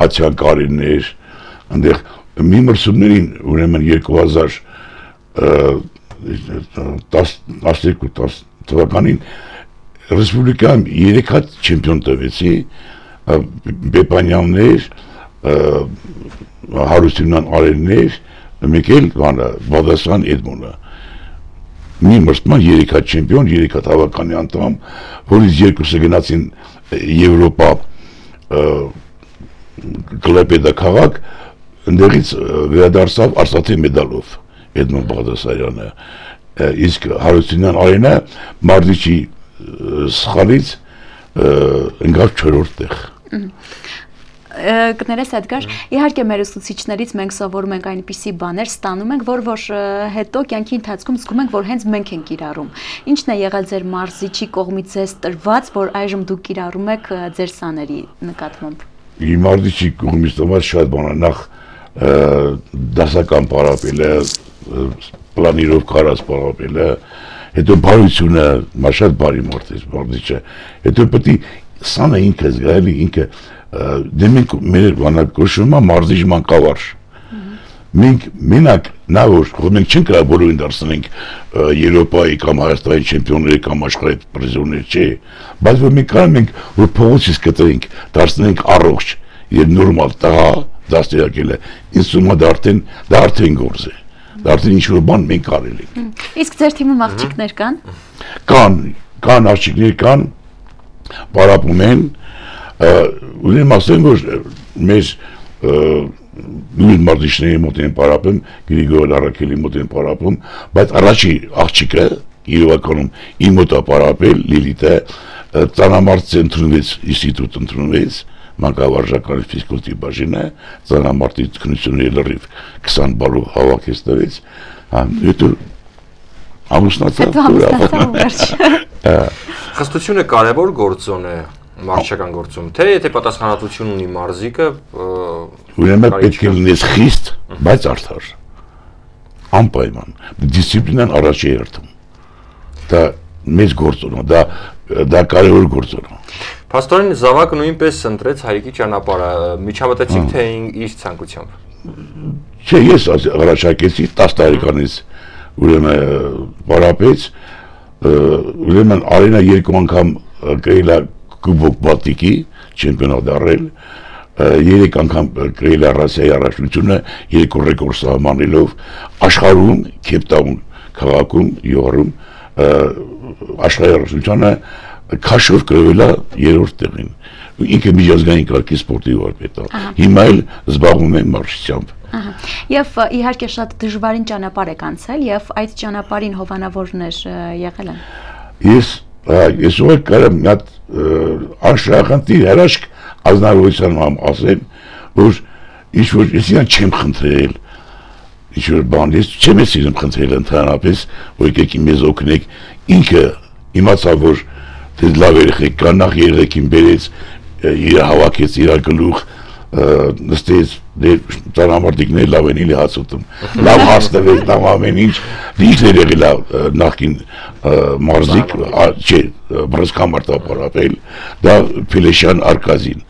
[SPEAKER 4] ացիան կարիներ այնտեղ մի մրցումներին ուրեմն երկու հազար տասնյոթ թվականին ռեսպուբլիկայում երեք հատ չեմպիոն տվեցի, Բեփանյաններ, Հարությունյան Արեններ, մեկ էլ Բադասարյան Էդմոնը։ Մի մրցման երեք հատ չեմպիոն, երեք հատ հավաքանի անդամ, որից երկուսը գնացին Եվրոպա Կլեպեդա քաղաք, ընդեղից վերադարձավ Արցախի մեդալով Էդմոն Բաղդասարյանը, իսկ Հարությունյան Արենը Մարտիչի սխալից ընկավ չորրորդ տեղ։
[SPEAKER 1] Կներես Էդգար, իհարկե մեր ուսուցիչներից մենք սովորում ենք այնպիսի բաներ, ստանում ենք, որ որ հետո կյանքի ընթացքում զգում ենք, որ հենց մենք ենք կիրառում։ Ինչն է եղել ձեր մարզիչի կողմից ձեզ տրված, որ այժմ դուք կիրառում եք ձեր սաների նկատմամբ։
[SPEAKER 4] Իմ մարզիչի կողմից տրված շատ բան է, նախ դասական պարապելը, պլանիրով կարած պարապելը, հետո բարությունը, շատ բարի մարդ է մարզիչը, հետո պետք է սանը ինքը զգալի, ինքը դե մենք մեր բանակոչումը մարզիչ մանկավարժ։ Մենք մենակ նա որ մենք չենք կարող բոլորին դարձնենք Եվրոպայի կամ Հայաստանի չեմպիոնների կամ աշխարհի պրիզիոներ, չէ, բայց որ մենք կարող ենք որ փողոցից կտրենք, դարձնենք առողջ եւ նորմալ տղա դաստիարակելը, ինձ թվում է դա արդեն դա արդեն գործ է։ Դա արդեն ինչ-որ բան մենք արել ենք։
[SPEAKER 1] Իսկ ձեր թիմում աղջիկներ կան։
[SPEAKER 4] Կան, կան աղջիկներ կան, պարապում են, ուրեմն ասեմ, որ մեր նույն մարզիչների մոտ են պարապում, Գրիգոր Արաքելի մոտ են պարապում, բայց առաջի աղջիկը իրականում իմ մոտ է պարապել, Լիլիթը, ծանամարտ ընդունվեց, ինստիտուտ ընդունվեց, մանկավարժական ֆիզկուլտուրի բաժինը, ծանամարտի քննությունների լրիվ քսան բալով հավաքեց տվեց, հետո ամուսնացավ։
[SPEAKER 2] Խստությունը կարևոր գործոն է մարզչական գործում, թե եթե պատասխանատվություն ունի մարզիկը,
[SPEAKER 4] ուրեմն պետք է լինես խիստ, բայց արդար, անպայման, դիսցիպլինան առաջ է երթում, դա մեծ գործոն է, դա կարևոր գործոն է։
[SPEAKER 2] Փաստորեն Զավակը նույնպես ընտրեց հայրիկի ճանապարհը, միջամտեցիք թե իր ցանկությամբ։
[SPEAKER 4] Չէ, ես առաջարկեցի տասը տարեկանից ուրեմն պարապեց, ուրեմն Արենա երկու անգամ գրել է Կուբոկ Բալտիկի չեմպիոնատ դառել, երեք անգամ գրել է Ռասիայի առաջնությունը, երկու ռեկորդ սահմանելով աշխարհում, Քեյփթաուն քաղաքում, Յոհարում աշխարհի առաջնությունը քաշով գրվել է երրորդ տեղին։ Ինքը միջազգային կարգի սպորտի վարպետ է։ Հիմա էլ զբաղվում է մարզչությամբ։
[SPEAKER 1] Եւ իհարկե շատ դժվարին ճանապարհ եք անցել եւ այդ ճանապարհին հովանավորներ եղել են։
[SPEAKER 4] Ես ես ուղղակի կարամ մի հատ անշահախնդիր հրաշք ազնվորության համ ասեմ, որ ինչ որ ես իրան չեմ խնդրել, ինչ որ բան ես չեմ սիրում խնդրել ընդհանրապես, որ եկեք մեզ օգնեք, ինքը իմացավ որ դե լավ երեխեք կան, նախ երեխին բերեց, իր հավաքեց իր գլուխ, նստեց, դե ծանամարտիկներ լավ են իլի հաց ուտում, լավ հաց տվեց, լավ ամեն ինչ, ինքն էր եղել նախքին մարզիկ, չէ, բրսկամարտ ապարապել, դա Փելեշյան Արկազին,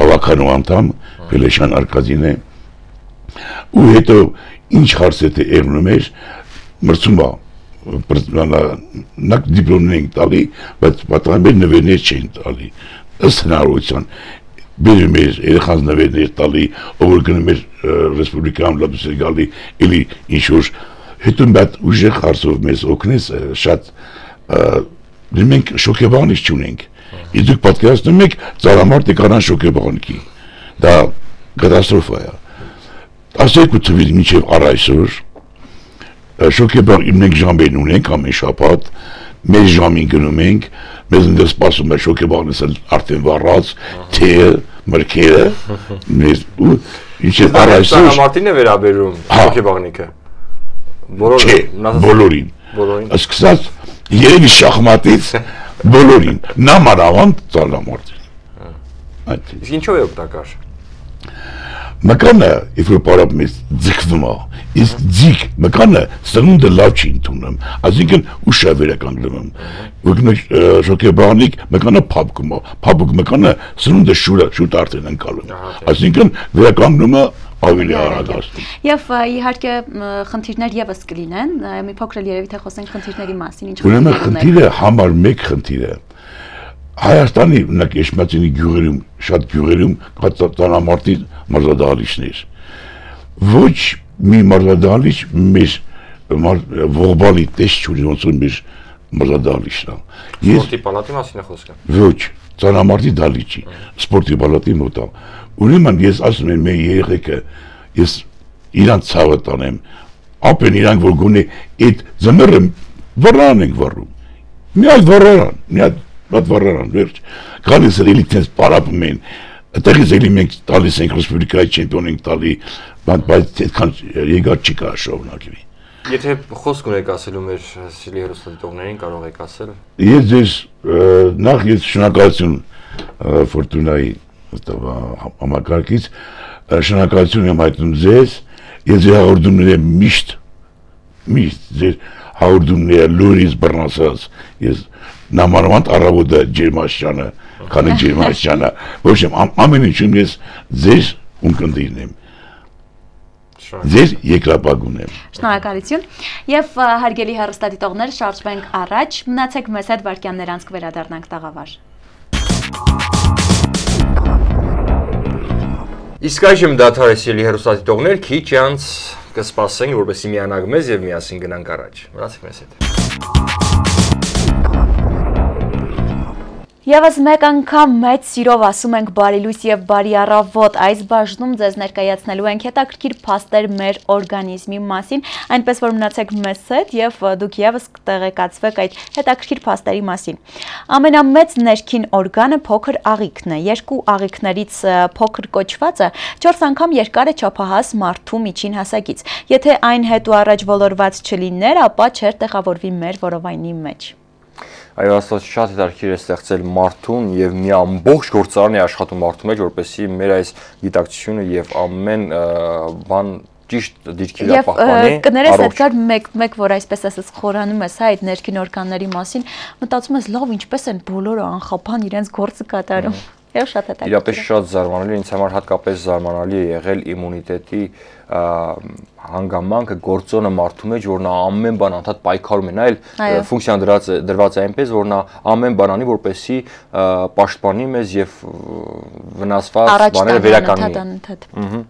[SPEAKER 4] հավաքանու անդամ Փելեշյան Արկազին է, ու հետո ինչ հարց է թե եղնում էր, մրցում է, նակ դիպլոմներ ենք տալի, բայց պատրանբեր նվերներ չեն տալի, ըստ հնարավորության, բերում էր երեխանց նվերներ տալի, ով որ գնում էր ռեսպուբլիկայում լատուս էր գալի, էլի ինչ-որ, հետո այդ ուժեղ հարցով մեզ օգնեց շատ, մենք շոկեբանից չունենք, իսկ դուք պատկերացնում եք ծառամարտի կանան շոկեբանքի, դա կատաստրոֆա է, տասներկու թվից մինչև առ այսօր, շոկեբան մենք ժամերն ունենք ամեն շաբաթ, մեր ժամին գնում ենք, մեզ ընդ սպասում է շոկեբանից արդեն վառած, թեյը, մրգերը, մեզ ու ինչ է առ այսօր
[SPEAKER 2] ծառամարտին է վերաբերում շոկեբանիկը։
[SPEAKER 4] Չէ, բոլորին։ Սկսած երևի շախմատից բոլորին, նամանավանդ ծառամարտին։
[SPEAKER 2] Իսկ ինչով է օգտակար։
[SPEAKER 4] Մկանը, if որ պարապում ես ձգվում է, իսկ ձիգ մկանը սնունդը լավ չի ընդունում, այսինքն ուշ է վերականգնում, որ շոկեբանիկ մկանը փափկում է, փափուկ մկանը սնունդը շուտ արդեն ընկալում, այսինքն վերականգնումը ավելի արագացնում։
[SPEAKER 1] Եվ իհարկե խնդիրներ եւս կլինեն, մի փոքր էլ երևի թե խոսենք խնդիրների մասին, ինչ
[SPEAKER 4] ուրեմն խնդիրը համար մեկ խնդիր է։ Հայաստանի օրինակ Էշմիածինի գյուղերում, շատ գյուղերում կա ծանամարտի մարզադահլիճներ։ Ոչ մի մարզադահլիճ մեր ողբալի տեսք չունի, ոնց որ մեր մարզադահլիճն է։
[SPEAKER 2] Սպորտի պալատի մասին է խոսքը։
[SPEAKER 4] Ոչ, ծանամարտի դահլիճի, սպորտի պալատի մոտ է։ Ուրեմն ես ասում եմ մեր երեխեքը, ես իրանց ցավը տանեմ, ապեն իրանք որ գոնե այդ ձմեռը վռան ենք վռում։ Մի այլ վռան, մի այլ Բադ վառան վերջ, գալիս էլ իլիքնես պարապում են, այդտեղից էլի մենք տալիս ենք ռեսպուբլիկայի չեմպիոն ենք տալի, բայց այդքան եկած չի կա շարունակվի։
[SPEAKER 2] Եթե խոսք ունեք ասելու մեր սիրելի հեռուստադիտողներին, կարող եք ասել։
[SPEAKER 4] Ես ձեզ նախ ես շնորհակալություն Ֆորտունայի համակարգից, շնորհակալություն եմ հայտնում ձեզ, ես ձեր հաղորդումները միշտ, միշտ ձեր հաղորդումները լուրից բռնացած, ես նամանավանդ առավոտը ջերմաշճանը, քանի ջերմաշճանը, ոչ ամեն ինչում ես ձեր ունկնդիրն եմ, ձեր երկրապագուն եմ։
[SPEAKER 1] Շնորհակալություն եւ հարգելի հեռուստադիտողներ, շարժվենք առաջ, մնացեք մեզ հետ վարքյաններ անց կվերադառնանք տաղավար։
[SPEAKER 2] Իսկ այժմ դադար է սիրելի հեռուստադիտողներ, քիչ անց կսպասենք, որպեսզի միանանք մեզ եւ միասին գնանք առաջ։ Մնացեք մեզ հետ։
[SPEAKER 1] Եվս մեկ անգամ մեծ սիրով ասում ենք բարի լույս եւ բարի առավոտ, այս բաժնում ձեզ ներկայացնելու ենք հետաքրքիր փաստեր մեր օրգանիզմի մասին, այնպես որ մնացեք մեզ հետ եւ դուք եւս կտեղեկացվեք այդ հետաքրքիր փաստերի մասին։ Ամենամեծ ներքին օրգանը փոքր աղիքն է, երկու աղիքներից փոքր կոչվածը չորս անգամ երկար է չափահաս մարդու միջին հասակից։ Եթե այն հետ ու առաջ ոլորված չլիներ, ապա չէր տեղավորվի մեր որովայնի մեջ։
[SPEAKER 2] Այո, աստված շատ հետաքրքիր է ստեղծել մարդուն եւ մի ամբողջ գործարան է աշխատում մարդու մեջ, որպեսզի մեր այս գիտակցությունը եւ ամեն բան ճիշտ դիրքի վրա պահպանի։
[SPEAKER 1] Եվ կներես այդքան մեկ մեկ որ այսպես ասած խորանում ես հա այդ ներքին օրգանների մասին, մտածում ես լավ ինչպես են բոլորը անխափան իրենց գործը կատարում։ Եվ շատ հետաքրքիր։
[SPEAKER 2] Իրապես շատ զարմանալի, ինձ համար հատկապես զարմանալի է եղել իմունիտետի հանգամանքը գործոնը մարդու մեջ, որ նա ամեն բան անդադ պայքարում է, նա էլ ֆունկցիան դրած դրված է այնպես, որ նա ամեն բան անի, որպեսզի պաշտպանի մեզ եւ վնասված բաները վերականգնի։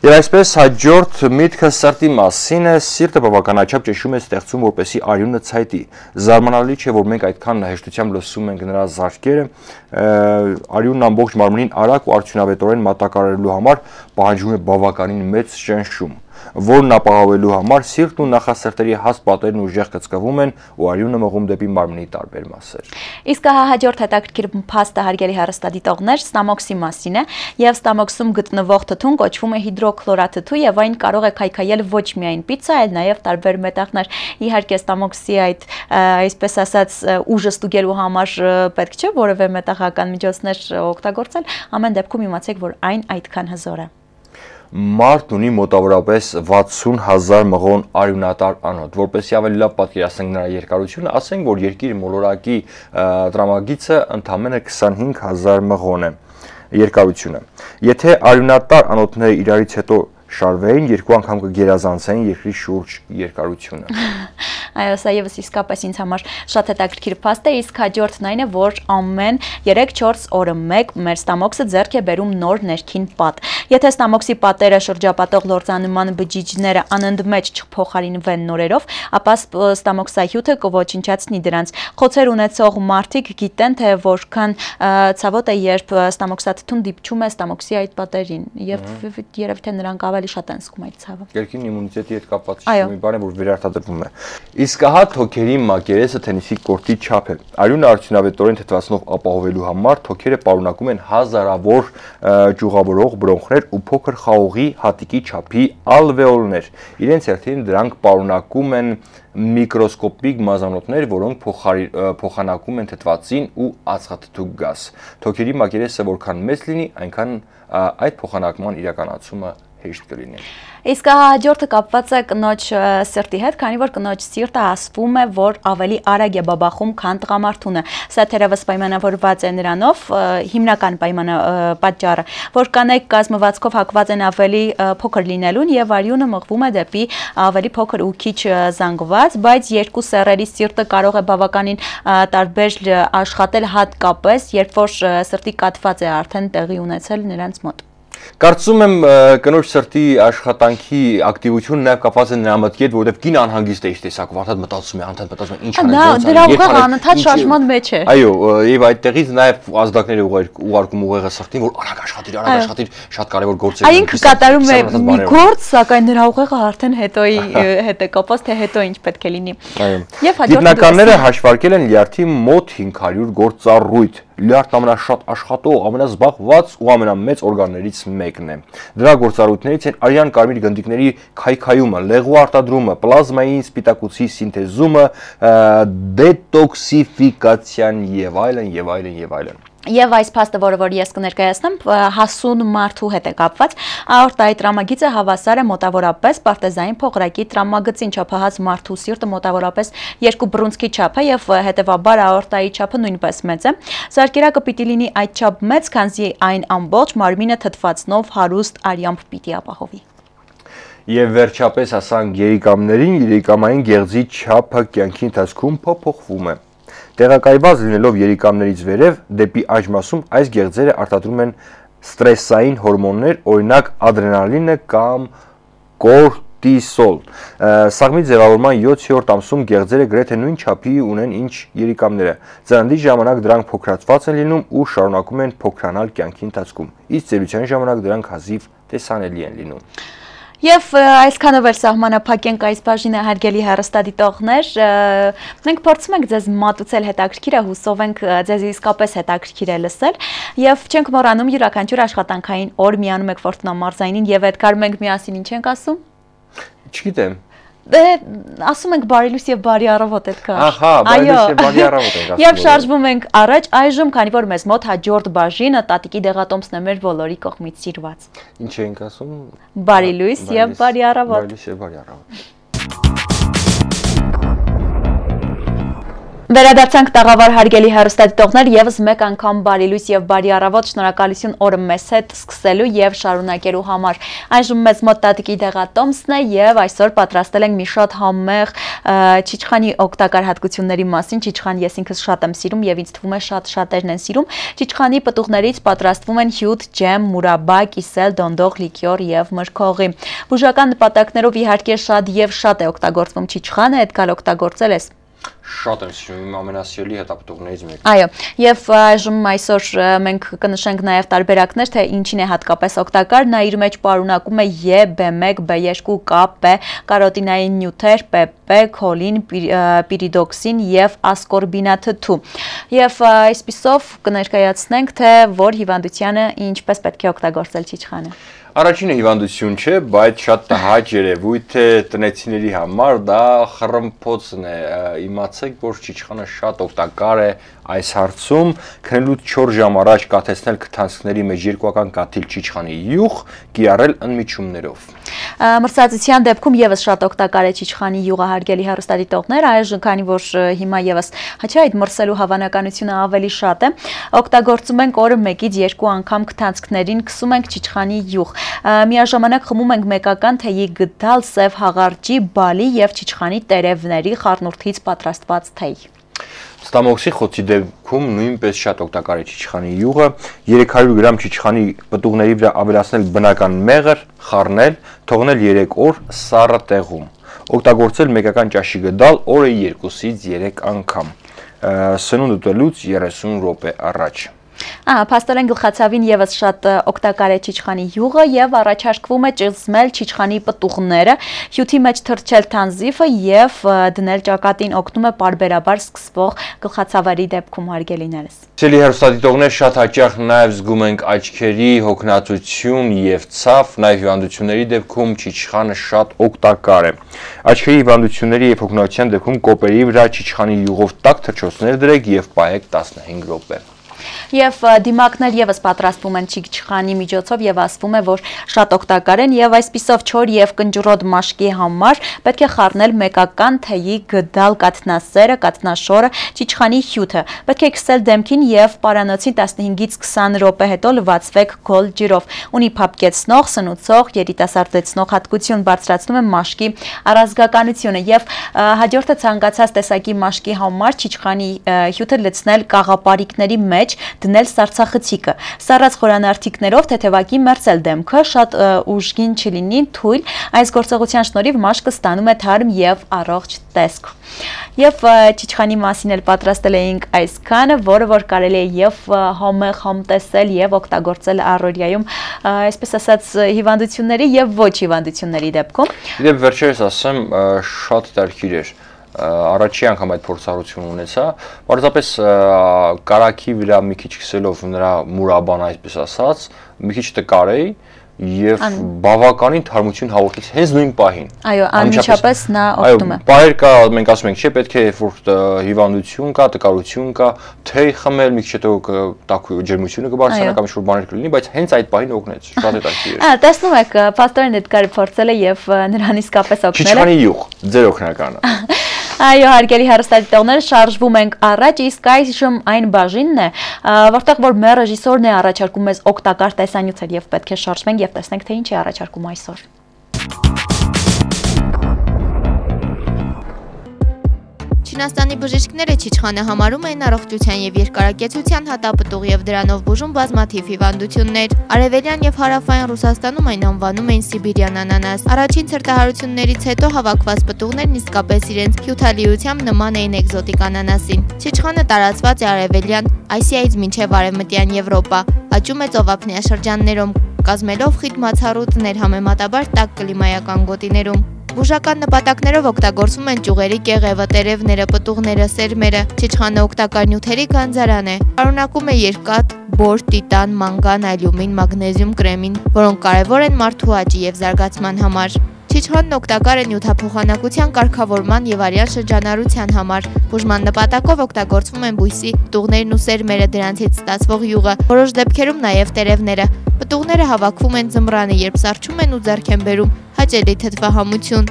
[SPEAKER 2] Եվ այսպես հաջորդ միտքը սրտի մասին է, սիրտը բավականաչափ ճնշում է ստեղծում, որպեսզի արյունը ցայտի։ Զարմանալի չէ, որ մենք այդքան հեշտությամբ լսում ենք նրա զարկերը, արյունն ամբողջ մարմնին արագ ու արդյունավետորեն մատակարարելու համար պահանջում է բավականին մեծ ճնշում, որն ապահովելու համար սիրտն ու նախասրտերի հաստ պատերն ուժեղ կծկվում են ու արյունը մղում դեպի մարմնի տարբեր մասեր։
[SPEAKER 1] Իսկ հաջորդ հետաքրքիր փաստը հարգելի հեռուստադիտողներ ստամոքսի մասին է, եւ ստամոքսում գտնվող թթուն կոչվում է հիդրոքլորաթթու եւ այն կարող է քայքայել ոչ միայն պիցա, այլ նաեւ տարբեր մետաղներ։ Իհարկե ստամոքսի այդ այսպես ասած ուժը ստուգելու համար պետք չէ որևէ մետաղական միջոցներ օգտագործել, ամեն դեպքում իմացեք, որ այն այդքան հզոր է։
[SPEAKER 2] Մարդ ունի մոտավորապես վաթսուն հազար մղոն արյունատար անոթ, որպեսզի ավելի լավ պատկերացնենք նրա երկարությունը, ասենք, որ երկիր մոլորակի տրամագիծը ընդամենը քսանհինգ հազար մղոն է երկարությունը։ Եթե արյունատար անոթները իրարից հետո շարվեին, երկու անգամ կգերազանցեին երկրի շուրջ երկարությունը։
[SPEAKER 1] Այո, սա եւս իսկապես ինձ համար շատ հետաքրքիր փաստ է, իսկ հաջորդն այն է, որ ամեն երեք-չորս օրը մեկ մեր ստամոքսը ձեռք է բերում նոր ներքին պատ։ Եթե ստամոքսի պատերը շրջապատող լորձանման բջիջները անընդմեջ չփոխարինվեն նորերով, ապա ստամոքսահյութը կոչնչացնի դրանց։ Խոցեր ունեցող մարդիկ գիտեն, թե որքան ցավոտ է, երբ ստամոքսաթթուն դիպչում է ստամոքսի այդ պատերին, եւ երևի թե նրանք ավելի շատ են զգում այդ ցավը։
[SPEAKER 2] Երկրի իմունիտետի հետ կապված մի բան է, որ վերարտադրվում է։ Իսկ ահա թոքերի մակերեսը թենիսի կորտի չափ է։ Արյունը արդյունավետորեն թթվածնով ապահովելու համար թոքերը պարունակում են հազարավոր ճյուղավորող բրոնխներ ու փոքր խաղողի հատիկի չափի ալվեոլներ։ Իրենց հերթին դրանք պարունակում են միկրոսկոպիկ մազանոթներ, որոնք փոխանակում են թթվածին ու ածխաթթու գազ։ Թոքերի մակերեսը որքան մեծ լինի, այնքան այդ փոխանակման իրականացումը հեշտ կլինի։
[SPEAKER 1] Իսկ հաջորդը կապված է կնոջ սիրտի հետ, քանի որ կնոջ սիրտը ասվում է, որ ավելի արագ է բաբախում, քան տղամարդունը։ Սա թերևս պայմանավորված է նրանով, հիմնական պայմանը պատճառը, որ կանայք կազմվածքով հակված են ավելի փոքր լինելուն եւ արյունը մղվում է դեպի ավելի փոքր ու քիչ զանգված, բայց երկու սեռերի սիրտը կարող է բավականին տարբեր աշխատել, հատկապես երբ որ սրտի կաթված է արդեն տեղի ունեցել նրանց մոտ։
[SPEAKER 2] Կարծում եմ կնոջ սրտի աշխատանքի ակտիվությունը նաև կապված է նրա մտքի հետ, որովհետև կին անհանգիստ է իր տեսակով, անդադ մտածում է, անդադ մտածում է ինչ անեն,
[SPEAKER 1] դրա ուղղը անընդհատ շարժման մեջ է։
[SPEAKER 2] Այո, եւ այդտեղից նաև ազդակները ուղարկում ուղեղը սրտին, որ արագ աշխատիր, արագ աշխատիր, շատ կարևոր գործեր։
[SPEAKER 1] Այն ինքը կատարում է մի գործ, սակայն նրա ուղեղը արդեն հետոյի հետ է կապված, թե հետո ինչ պետք է լինի։
[SPEAKER 2] Այո։ Գիտնականները հաշվարկել են լյարդի մոտ հինգ հարյուր գործառույթ։ Լյարդն ամենաշատ աշխատող, ամենազբաղված ու ամենամեծ օրգաններից մեկն է։ Դրա գործառույթներից են արյան կարմիր գնդիկների քայքայումը, լեղու արտադրումը, պլազմային սպիտակուցի սինթեզումը, դետոքսիֆիկացիան եւ այլն եւ այլն եւ այլն։
[SPEAKER 1] Եվ այս փաստը, որը որ ես կներկայացնեմ, հասուն մարդու հետ է կապված, աորտայի տրամագիծը հավասար է մոտավորապես պարտեզային փողրակի տրամագծին, չափահաս մարդու սիրտը մոտավորապես երկու բռունցքի չափ է եւ հետեւաբար աորտայի չափը նույնպես մեծ է։ Սարքերակը պիտի լինի այդ չափ մեծ, քանզի այն ամբողջ մարմինը թթվածնով հարուստ արյամբ պիտի ապահովի։
[SPEAKER 2] Եվ վերջապես ասանք երիկամներին, երիկամային գեղձի չափը կյանքի ընթացքում փոփոխվում է։ Տեղակայված լինելով երիկամներից վերև դեպի աջ-մասում այս գեղձերը արտադրում են ստրեսային հորմոններ, օրինակ ադրենալինը կամ կորտիսոլ։ Սաղմի ձևավորման յոթերորդ ամսում գեղձերը գրեթե նույն չափի ունեն ինչ երիկամները։ Ծննդի ժամանակ դրանք փոքրացված են լինում ու շարունակում են փոքրանալ կյանքի ընթացքում։ Իսկ ծերության ժամանակ դրանք հազիվ տեսանելի են լինում։
[SPEAKER 1] Եվ այսքանով էլ սահմանափակենք այս բաժինը, հարգելի հեռուստադիտողներ, մենք փորձում ենք ձեզ մատուցել հետաքրքիր է, հուսով ենք ձեզ իսկապես հետաքրքիր է լսել եւ չենք մոռանում յուրաքանչյուր աշխատանքային օր միանում եք Ֆորտունա մարզայինին եւ այդ կարում ենք միասին ինչ ենք ասում։
[SPEAKER 2] Չգիտեմ։
[SPEAKER 1] Դե ասում ենք բարի լույս եւ բարի առավոտ այդքան։
[SPEAKER 2] Ահա, բարի լույս եւ բարի առավոտ ենք ասում։
[SPEAKER 1] Եվ շարժվում ենք առաջ այժմ, քանի որ մեզ մոտ հաջորդ բաժինը տատիկի դեղատոմսն է մեր բոլորի կողմից սիրված։
[SPEAKER 2] Ինչ ենք ասում։
[SPEAKER 1] Բարի լույս եւ բարի առավոտ։
[SPEAKER 2] Բարի լույս եւ բարի առավոտ։
[SPEAKER 1] Վերադարձանք տաղավար հարգելի հեռուստադիտողներ, եւս մեկ անգամ բարի լույս եւ բարի առավոտ, շնորհակալություն օրը մեզ հետ սկսելու եւ շարունակելու համար։ Այժմ մեզ մոտ տատիկի դեղատոմսն է եւ այսօր պատրաստել ենք մի շատ համեղ չիչխանի օգտակար հատկությունների մասին։ Չիչխան ես ինքս շատ եմ սիրում եւ ինձ թվում է շատ շատերն են սիրում։ Չիչխանի պտուղներից պատրաստվում են հյութ, ջեմ, մուրաբա, կիսել, դոնդող, լիկյոր եւ մրգողի։ Բուժական նպատակներով իհարկե շատ եւ շատ է օգտագործվում չիչխանը, այդ կալ օգտագործել ես։
[SPEAKER 2] Շատ եմ սիրում, իմ ամենասիրելի հետապտուղներից մեկը։
[SPEAKER 1] Այո, եւ այժմ այսօր մենք կնշենք նաեւ տարբերակներ, թե ինչին է հատկապես օգտակար, նա իր մեջ պարունակում է E, B one, B two, K, P, կարոտինային նյութեր, P P, քոլին, պիրիդոքսին եւ ասկորբինաթթու։ Եվ այսպիսով կներկայացնենք, թե որ հիվանդությանը ինչպես պետք է օգտագործել չիչխանը։
[SPEAKER 2] Առաջինը հիվանդություն չէ, բայց շատ տհաճ երևույթ է տնեցիների համար, դա խռմփոցն է։ Իմացեք, որ չիչխանը շատ օգտակար է այս հարցում, քնելուց չորս ժամ առաջ կաթեցնել քթանցքների մեջ երկուական կաթիլ չիչխանի յուղ, կիրառել ընմիջումներով։
[SPEAKER 1] Մրցակցության դեպքում եւս շատ օգտակար է չիչխանի յուղը, հարգելի հեռուստադիտողներ, այժմ քանի որ հիմա եւս հաճա այդ մրսելու հավանականությունը ավելի շատ է, օգտագործում ենք օրը մեկից երկու անգամ քթանցքներին, քսում ենք չիչխանի յուղ։ Միաժամանակ խմում ենք մեկական թեյի գդալ, սև հաղարջի, բալի եւ չիչխանի տերևների խառնուրդից պատրաստված թեյ։
[SPEAKER 2] Ստամոքսի խոցի դեպքում նույնպես շատ օգտակար է չիչխանի յուղը, երեք հարյուր գրամ չիչխանի պտուղների վրա ավելացնել բնական մեղր, խառնել, թողնել երեք օր սառը տեղում։ Օգտագործել մեկական ճաշի գդալ օրը երկուսից երեք անգամ։ Սնունդ ուտելուց երեսուն րոպե առաջ։
[SPEAKER 1] Ահա, փաստորեն գլխացավին եւս շատ օգտակար է չիչխանի յուղը եւ առաջարկվում է ճզմել չիչխանի պտուղները, հյութի մեջ թրջել թանզիֆը եւ դնել ճակատին, օգնում է պարբերաբար սկսվող գլխացավերի դեպքում, հարգելիներս։
[SPEAKER 2] Սիրելի հեռուստադիտողներ, շատ հաճախ նաեւ զգում ենք աչքերի հոգնածություն եւ ցավ, նաեւ հիվանդությունների դեպքում չիչխանը շատ օգտակար է։ Աչքերի հիվանդությունների եւ հոգնածության դեպքում կոպերի վրա չիչխանի յուղով տաք թրջոցներ դրեք եւ պահեք տասնհինգ րոպե։
[SPEAKER 1] Եվ դիմակներ եւս պատրաստվում են չիչխանի միջոցով եւ ասվում է, որ շատ օգտակար են եւ այսպիսով չոր եւ կնճռոտ մաշկի համար պետք է խառնել մեկական թեյի գդալ կաթնասերը, կաթնաշորը, չիչխանի հյութը։ Պետք է քսել դեմքին եւ պարանոցին տասնհինգից քսան րոպե հետո լվացվեք գոլ ջրով։ Ունի փափկեցնող, սնուցող, երիտասարդեցնող հատկություն, բարձրացնում է մաշկի առազգականությունը եւ հաջորդը ցանկացած տեսակի մաշկի համար չիչխանի հյութը լցնել կաղապարիկների մեջ, դնել սառցախցիկը, սառած խորանարդիկներով թեթևակի մերձել դեմքը, շատ ուժգին չլինի, թույլ, այս գործողության շնորհիվ մաշկը ստանում է թարմ եւ առողջ տեսք։ Եվ չիչխանի մասին էլ պատրաստել էինք այսքանը, որը որ կարելի է եւ համեղ համտեսել եւ օգտագործել առօրյայում, այսպես ասած, հիվանդությունների եւ ոչ հիվանդությունների դեպքում։
[SPEAKER 2] Իդեպ վերջերս ասեմ, շատ դարքիր էր առաջի անգամ այդ փորձառությունը ունեցա, պարզապես կարագի վրա մի քիչ քսելով նրա մուրաբան, այսպես ասած, մի քիչ տկար էի եւ բավականին թարմություն հաղորդեց հենց նույն պահին։
[SPEAKER 1] Այո, անմիջապես նա օգտվում է։
[SPEAKER 2] Այո, բահեր կա, մենք ասում ենք, չէ, պետք է որ հիվանդություն կա, տկարություն կա, թեյ խմել, մի քիչ հետո տաք ջերմությունը կբարձրանա կամ ինչ-որ բաներ կլինի, բայց հենց այդ պահին օգնեց։ Շատ հետաքրքիր է։
[SPEAKER 1] Ահա, տեսնում եք, Պաստորեն Էդգարը փորձել է եւ նրան իսկապես օգնել է։
[SPEAKER 2] Չիչխանի յուղ, ձեր օգնականը։
[SPEAKER 1] Այո, հարգելի հեռուստադիտողներ, շարժվում ենք առաջ, իսկ այժմ այն բաժինն է, որտեղ որ մեր ռեժիսորն է առաջարկում մեզ օգտակար տեսանյութեր եւ պետք է շարժվենք եւ տեսնենք, թե ինչ է առաջարկում այսօր։
[SPEAKER 3] Չինաստանի բժիշկները չիչխանը համարում են առողջության եւ երկարակեցության հատապտուղ եւ դրանով բուժում բազմաթիվ հիվանդություններ։ Արևելյան եւ հարավային Ռուսաստանում այն անվանում են Սիբիրյան անանաս։ Առաջին ցրտահարություններից հետո հավաքված պտուղներն իսկապես իրենց հյութալիությամբ նման էին էկզոտիկ անանասին։ Չիչխանը տարածված է արևելյան Ասիայից մինչև արևմտյան Եվրոպա, աճում է ծովափնյա շրջաններում, կազմելով խիտ մացառուտներ համեմատաբար տաք կլիմայական գոտիներում։ Բուժական նպատակներով օգտագործվում են ճյուղերի կեղևը, տերևները, պտուղները, սերմերը։ Չիչխանը օգտակար նյութերի գանձարան է։ Պարունակում է երկաթ, բոր, տիտան, մանգան, ալյումին, մագնեզիում, կրեմին, որոնք կարևոր են մարդու աճի եւ զարգացման համար։ Չիչխանն օգտակար է նյութափոխանակության կարգավորման եւ արյան շրջանառության համար։ Բուժման նպատակով օգտագործվում են բույսի պտուղներն ու սերմերը, դրանցից ստացվող յուղը, որոշ դեպքերում նաեւ տերևները։ Պտուղները հավաքվում են ձմռանը, երբ սառչում են ու ձեռք են բերում հաճելի թթվահամություն։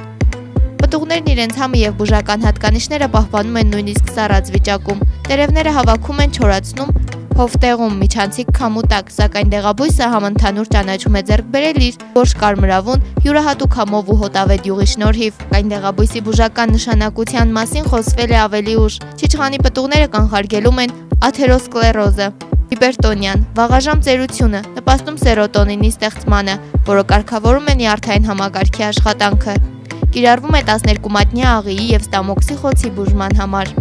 [SPEAKER 3] Պտուղներն իրենց համը եւ բուժական հատկանիշները պահպանում են նույնիսկ սառած վիճակում։ Տերևները հավաքում են, չորացնում, հովտեղում, միջանցիկ քամու տակ, սակայն դեղաբույսը համընդհանուր ճանաչում է ձեռք բերել իր գորշ կարմրավուն, յուրահատուկ համով ու հոտավետ յուղի շնորհիվ։ Այն դեղաբույսի բուժական նշանակության մասին խոսվել է ավելի ուշ։ Չիչխանի պտուղները կանխարգելում են աթերոսկլերոզը, հիպերտոնիան, վաղաժամ ծերությունը, նպաստում սերոտոնինի ստեղծմանը, որը կարգավորում է նյարդային համակարգի աշխատանքը։ Կիրառվում է տասներկու մատնյա աղիի եւ ստամոքսի խոցի բուժման համար։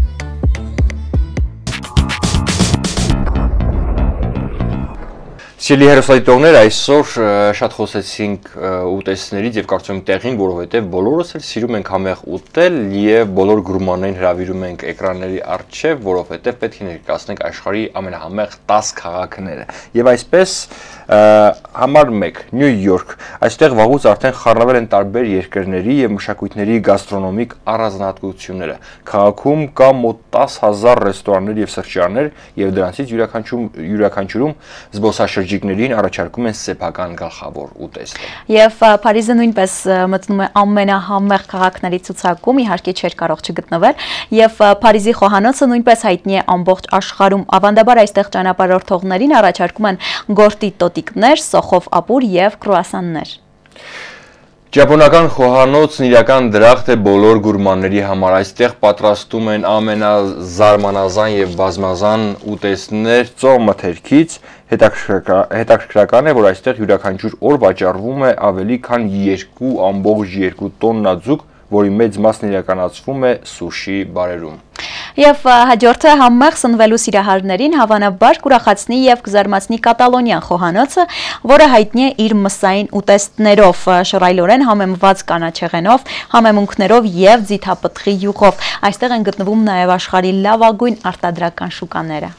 [SPEAKER 2] Սիրելի հեռուստադիտողներ, այսօր շատ խոսեցինք ուտեստներից եւ կարծում եմ տեղին, որովհետեւ բոլորս էլ սիրում ենք համեղ ուտել եւ բոլոր գուրմաններին հրավիրում ենք էկրանների առջեւ, որովհետեւ պետք է ներկայացնենք աշխարհի ամենահամեղ տասը քաղաքները։ Եվ այսպես համար մեկ Նյու Յորք, այստեղ վաղուց արդեն խառնվել են տարբեր երկրների եւ մշակույթների գաստրոնոմիկ առանձնահատկությունները։ Քաղաքում կա մոտ տասը հազար ռեստորաններ եւ սրճարաններ եւ դրանցից յուրաքանչյուրում զբոսաշրջիկներին առաջարկում են սեփական գլխավոր ուտեստը։
[SPEAKER 1] Եվ Փարիզը նույնպես մտնում է ամենահամեղ քաղաքների ցուցակում, իհարկե չէր կարող չգտնվել, եւ Փարիզի խոհանոցը նույնպես հայտնի է ամբողջ աշխարհում։ Ավանդաբար այստեղ ճանապարհորդողներին առաջարկում են գորտի տոտիկներ, սոխով ապուր եւ կրուասաններ։
[SPEAKER 2] Ճապոնական խոհանոցն իրական դրախտ է բոլոր գուրմանների համար։ Այստեղ պատրաստում են ամենազարմանազան եւ բազմազան ուտեստներ ծով մթերքից։ Հետաքրքրական է, որ այստեղ յուրաքանչյուր օր վաճառվում է ավելի քան երկու ամբողջ երկու տոննա ձուկ, որի մեծ մասն իրականացվում է սուշի բարերում։
[SPEAKER 1] Եվ հաջորդը համեղ սնվելու սիրահարներին հավանաբար կուրախացնի եւ կզարմացնի կատալոնյան խոհանոցը, որը հայտնի է իր մսային ուտեստներով, շռայլորեն համեմված կանաչեղենով, համեմունքներով եւ ձիթապտղի յուղով։ Այստեղ են գտնվում նաեւ աշխարհի լավագույն արտադրական շուկաները։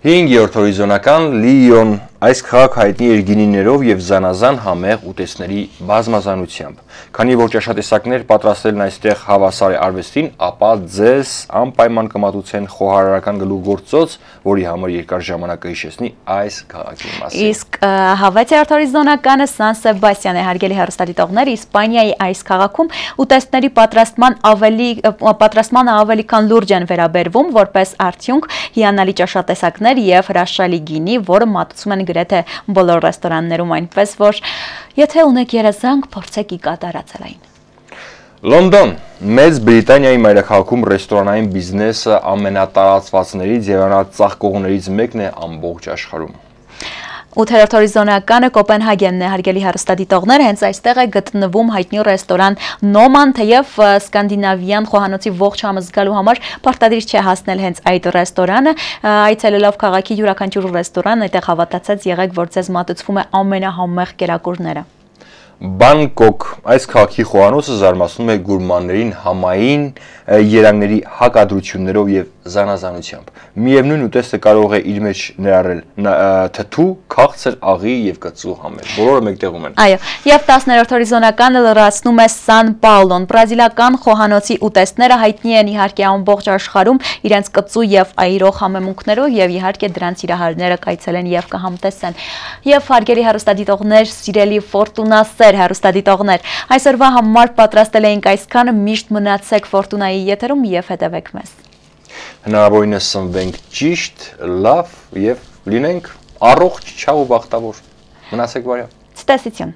[SPEAKER 2] հինգերորդ հորիզոնական Լիոն Այս քաղաք հայտնի էր գինիներով եւ զանազան համեղ ուտեստների բազմազանությամբ։ Քանի որ ճաշատեսակներ պատրաստելն այստեղ հավասար է արվեստին, ապա ձեզ անպայման կմատուցեն խոհարարական գլուխգործոց, որի համար երկար ժամանակ կհիշեցնի այս քաղաքի մասին։
[SPEAKER 1] Իսկ հավատի հորիզոնականը Սան Սեբաստիան է, հարգելի հեռուստադիտողներ, Իսպանիայի այս քաղաքում ուտեստների պատրաստման ավելի պատրաստմանը ավելի քան լուրջ են վերաբերվում, որպես արդյունք հիանալի ճաշատեսակներ եւ հրաշալի գինի, որը մատուցում են գրեթե բոլոր ռեստորաններում, այնպես որ եթե ունեք երազանք, փորձեք ի կատարածելային։
[SPEAKER 2] Լոնդոն, Մեծ Բրիտանիայի մայրաքաղաքում ռեստորանային բիզնեսը ամենատարածվածներից եւ ամենածաղկողներից մեկն է ամբողջ աշխարհում։
[SPEAKER 1] ութերորդ հորիզոնականը Կոպենհագենն է, հարգելի հեռուստադիտողներ, հենց այստեղ է գտնվում հայտնի ռեստորան Նոման, թեև սկանդինավյան խոհանոցի ողջ համը զգալու համար պարտադիր չէ հասնել հենց այդ ռեստորանը, այցելելով քաղաքի յուրաքանչյուր ռեստորան, այդտեղ հավատացած եղեք, որ ձեզ մատուցվում է ամենահամեղ կերակուրները։
[SPEAKER 2] Բանգկոկ, այս քաղաքի խոհանոցը զարմացնում է գուրմաններին համային երանգների հակադրություններով եւ զանազանությամբ։ Միևնույն ուտեստը կարող է իր մեջ ներառել թթու, քաղցր, աղի եւ կծու համեր։ Բոլորը մեկտեղում են։
[SPEAKER 1] Այո, եւ տասներորդ հորիզոնականը լրացնում է Սան Պաուլոն։ Բրազիլական խոհանոցի ուտեստները հայտնի են իհարկե ամբողջ աշխարհում իրենց կծու եւ այրող համեմունքներով եւ իհարկե դրանց իրահարները կայցելեն եւ կհամտեսեն։ Եվ հարգելի հեռուստադիտողներ, սիրելի Ֆորտունասեր հեռուստադիտողներ, այսօրվա համար պատրաստել էինք այսքանը, միշտ մնացեք Ֆորտունայի եթերում եւ հետևեք մեզ։
[SPEAKER 2] Հնարավորինս սնվենք ճիշտ, լավ եւ լինենք առողջ, չաղ ու բախտավոր։ Մնացեք բարյավ։
[SPEAKER 1] Ցտեսություն։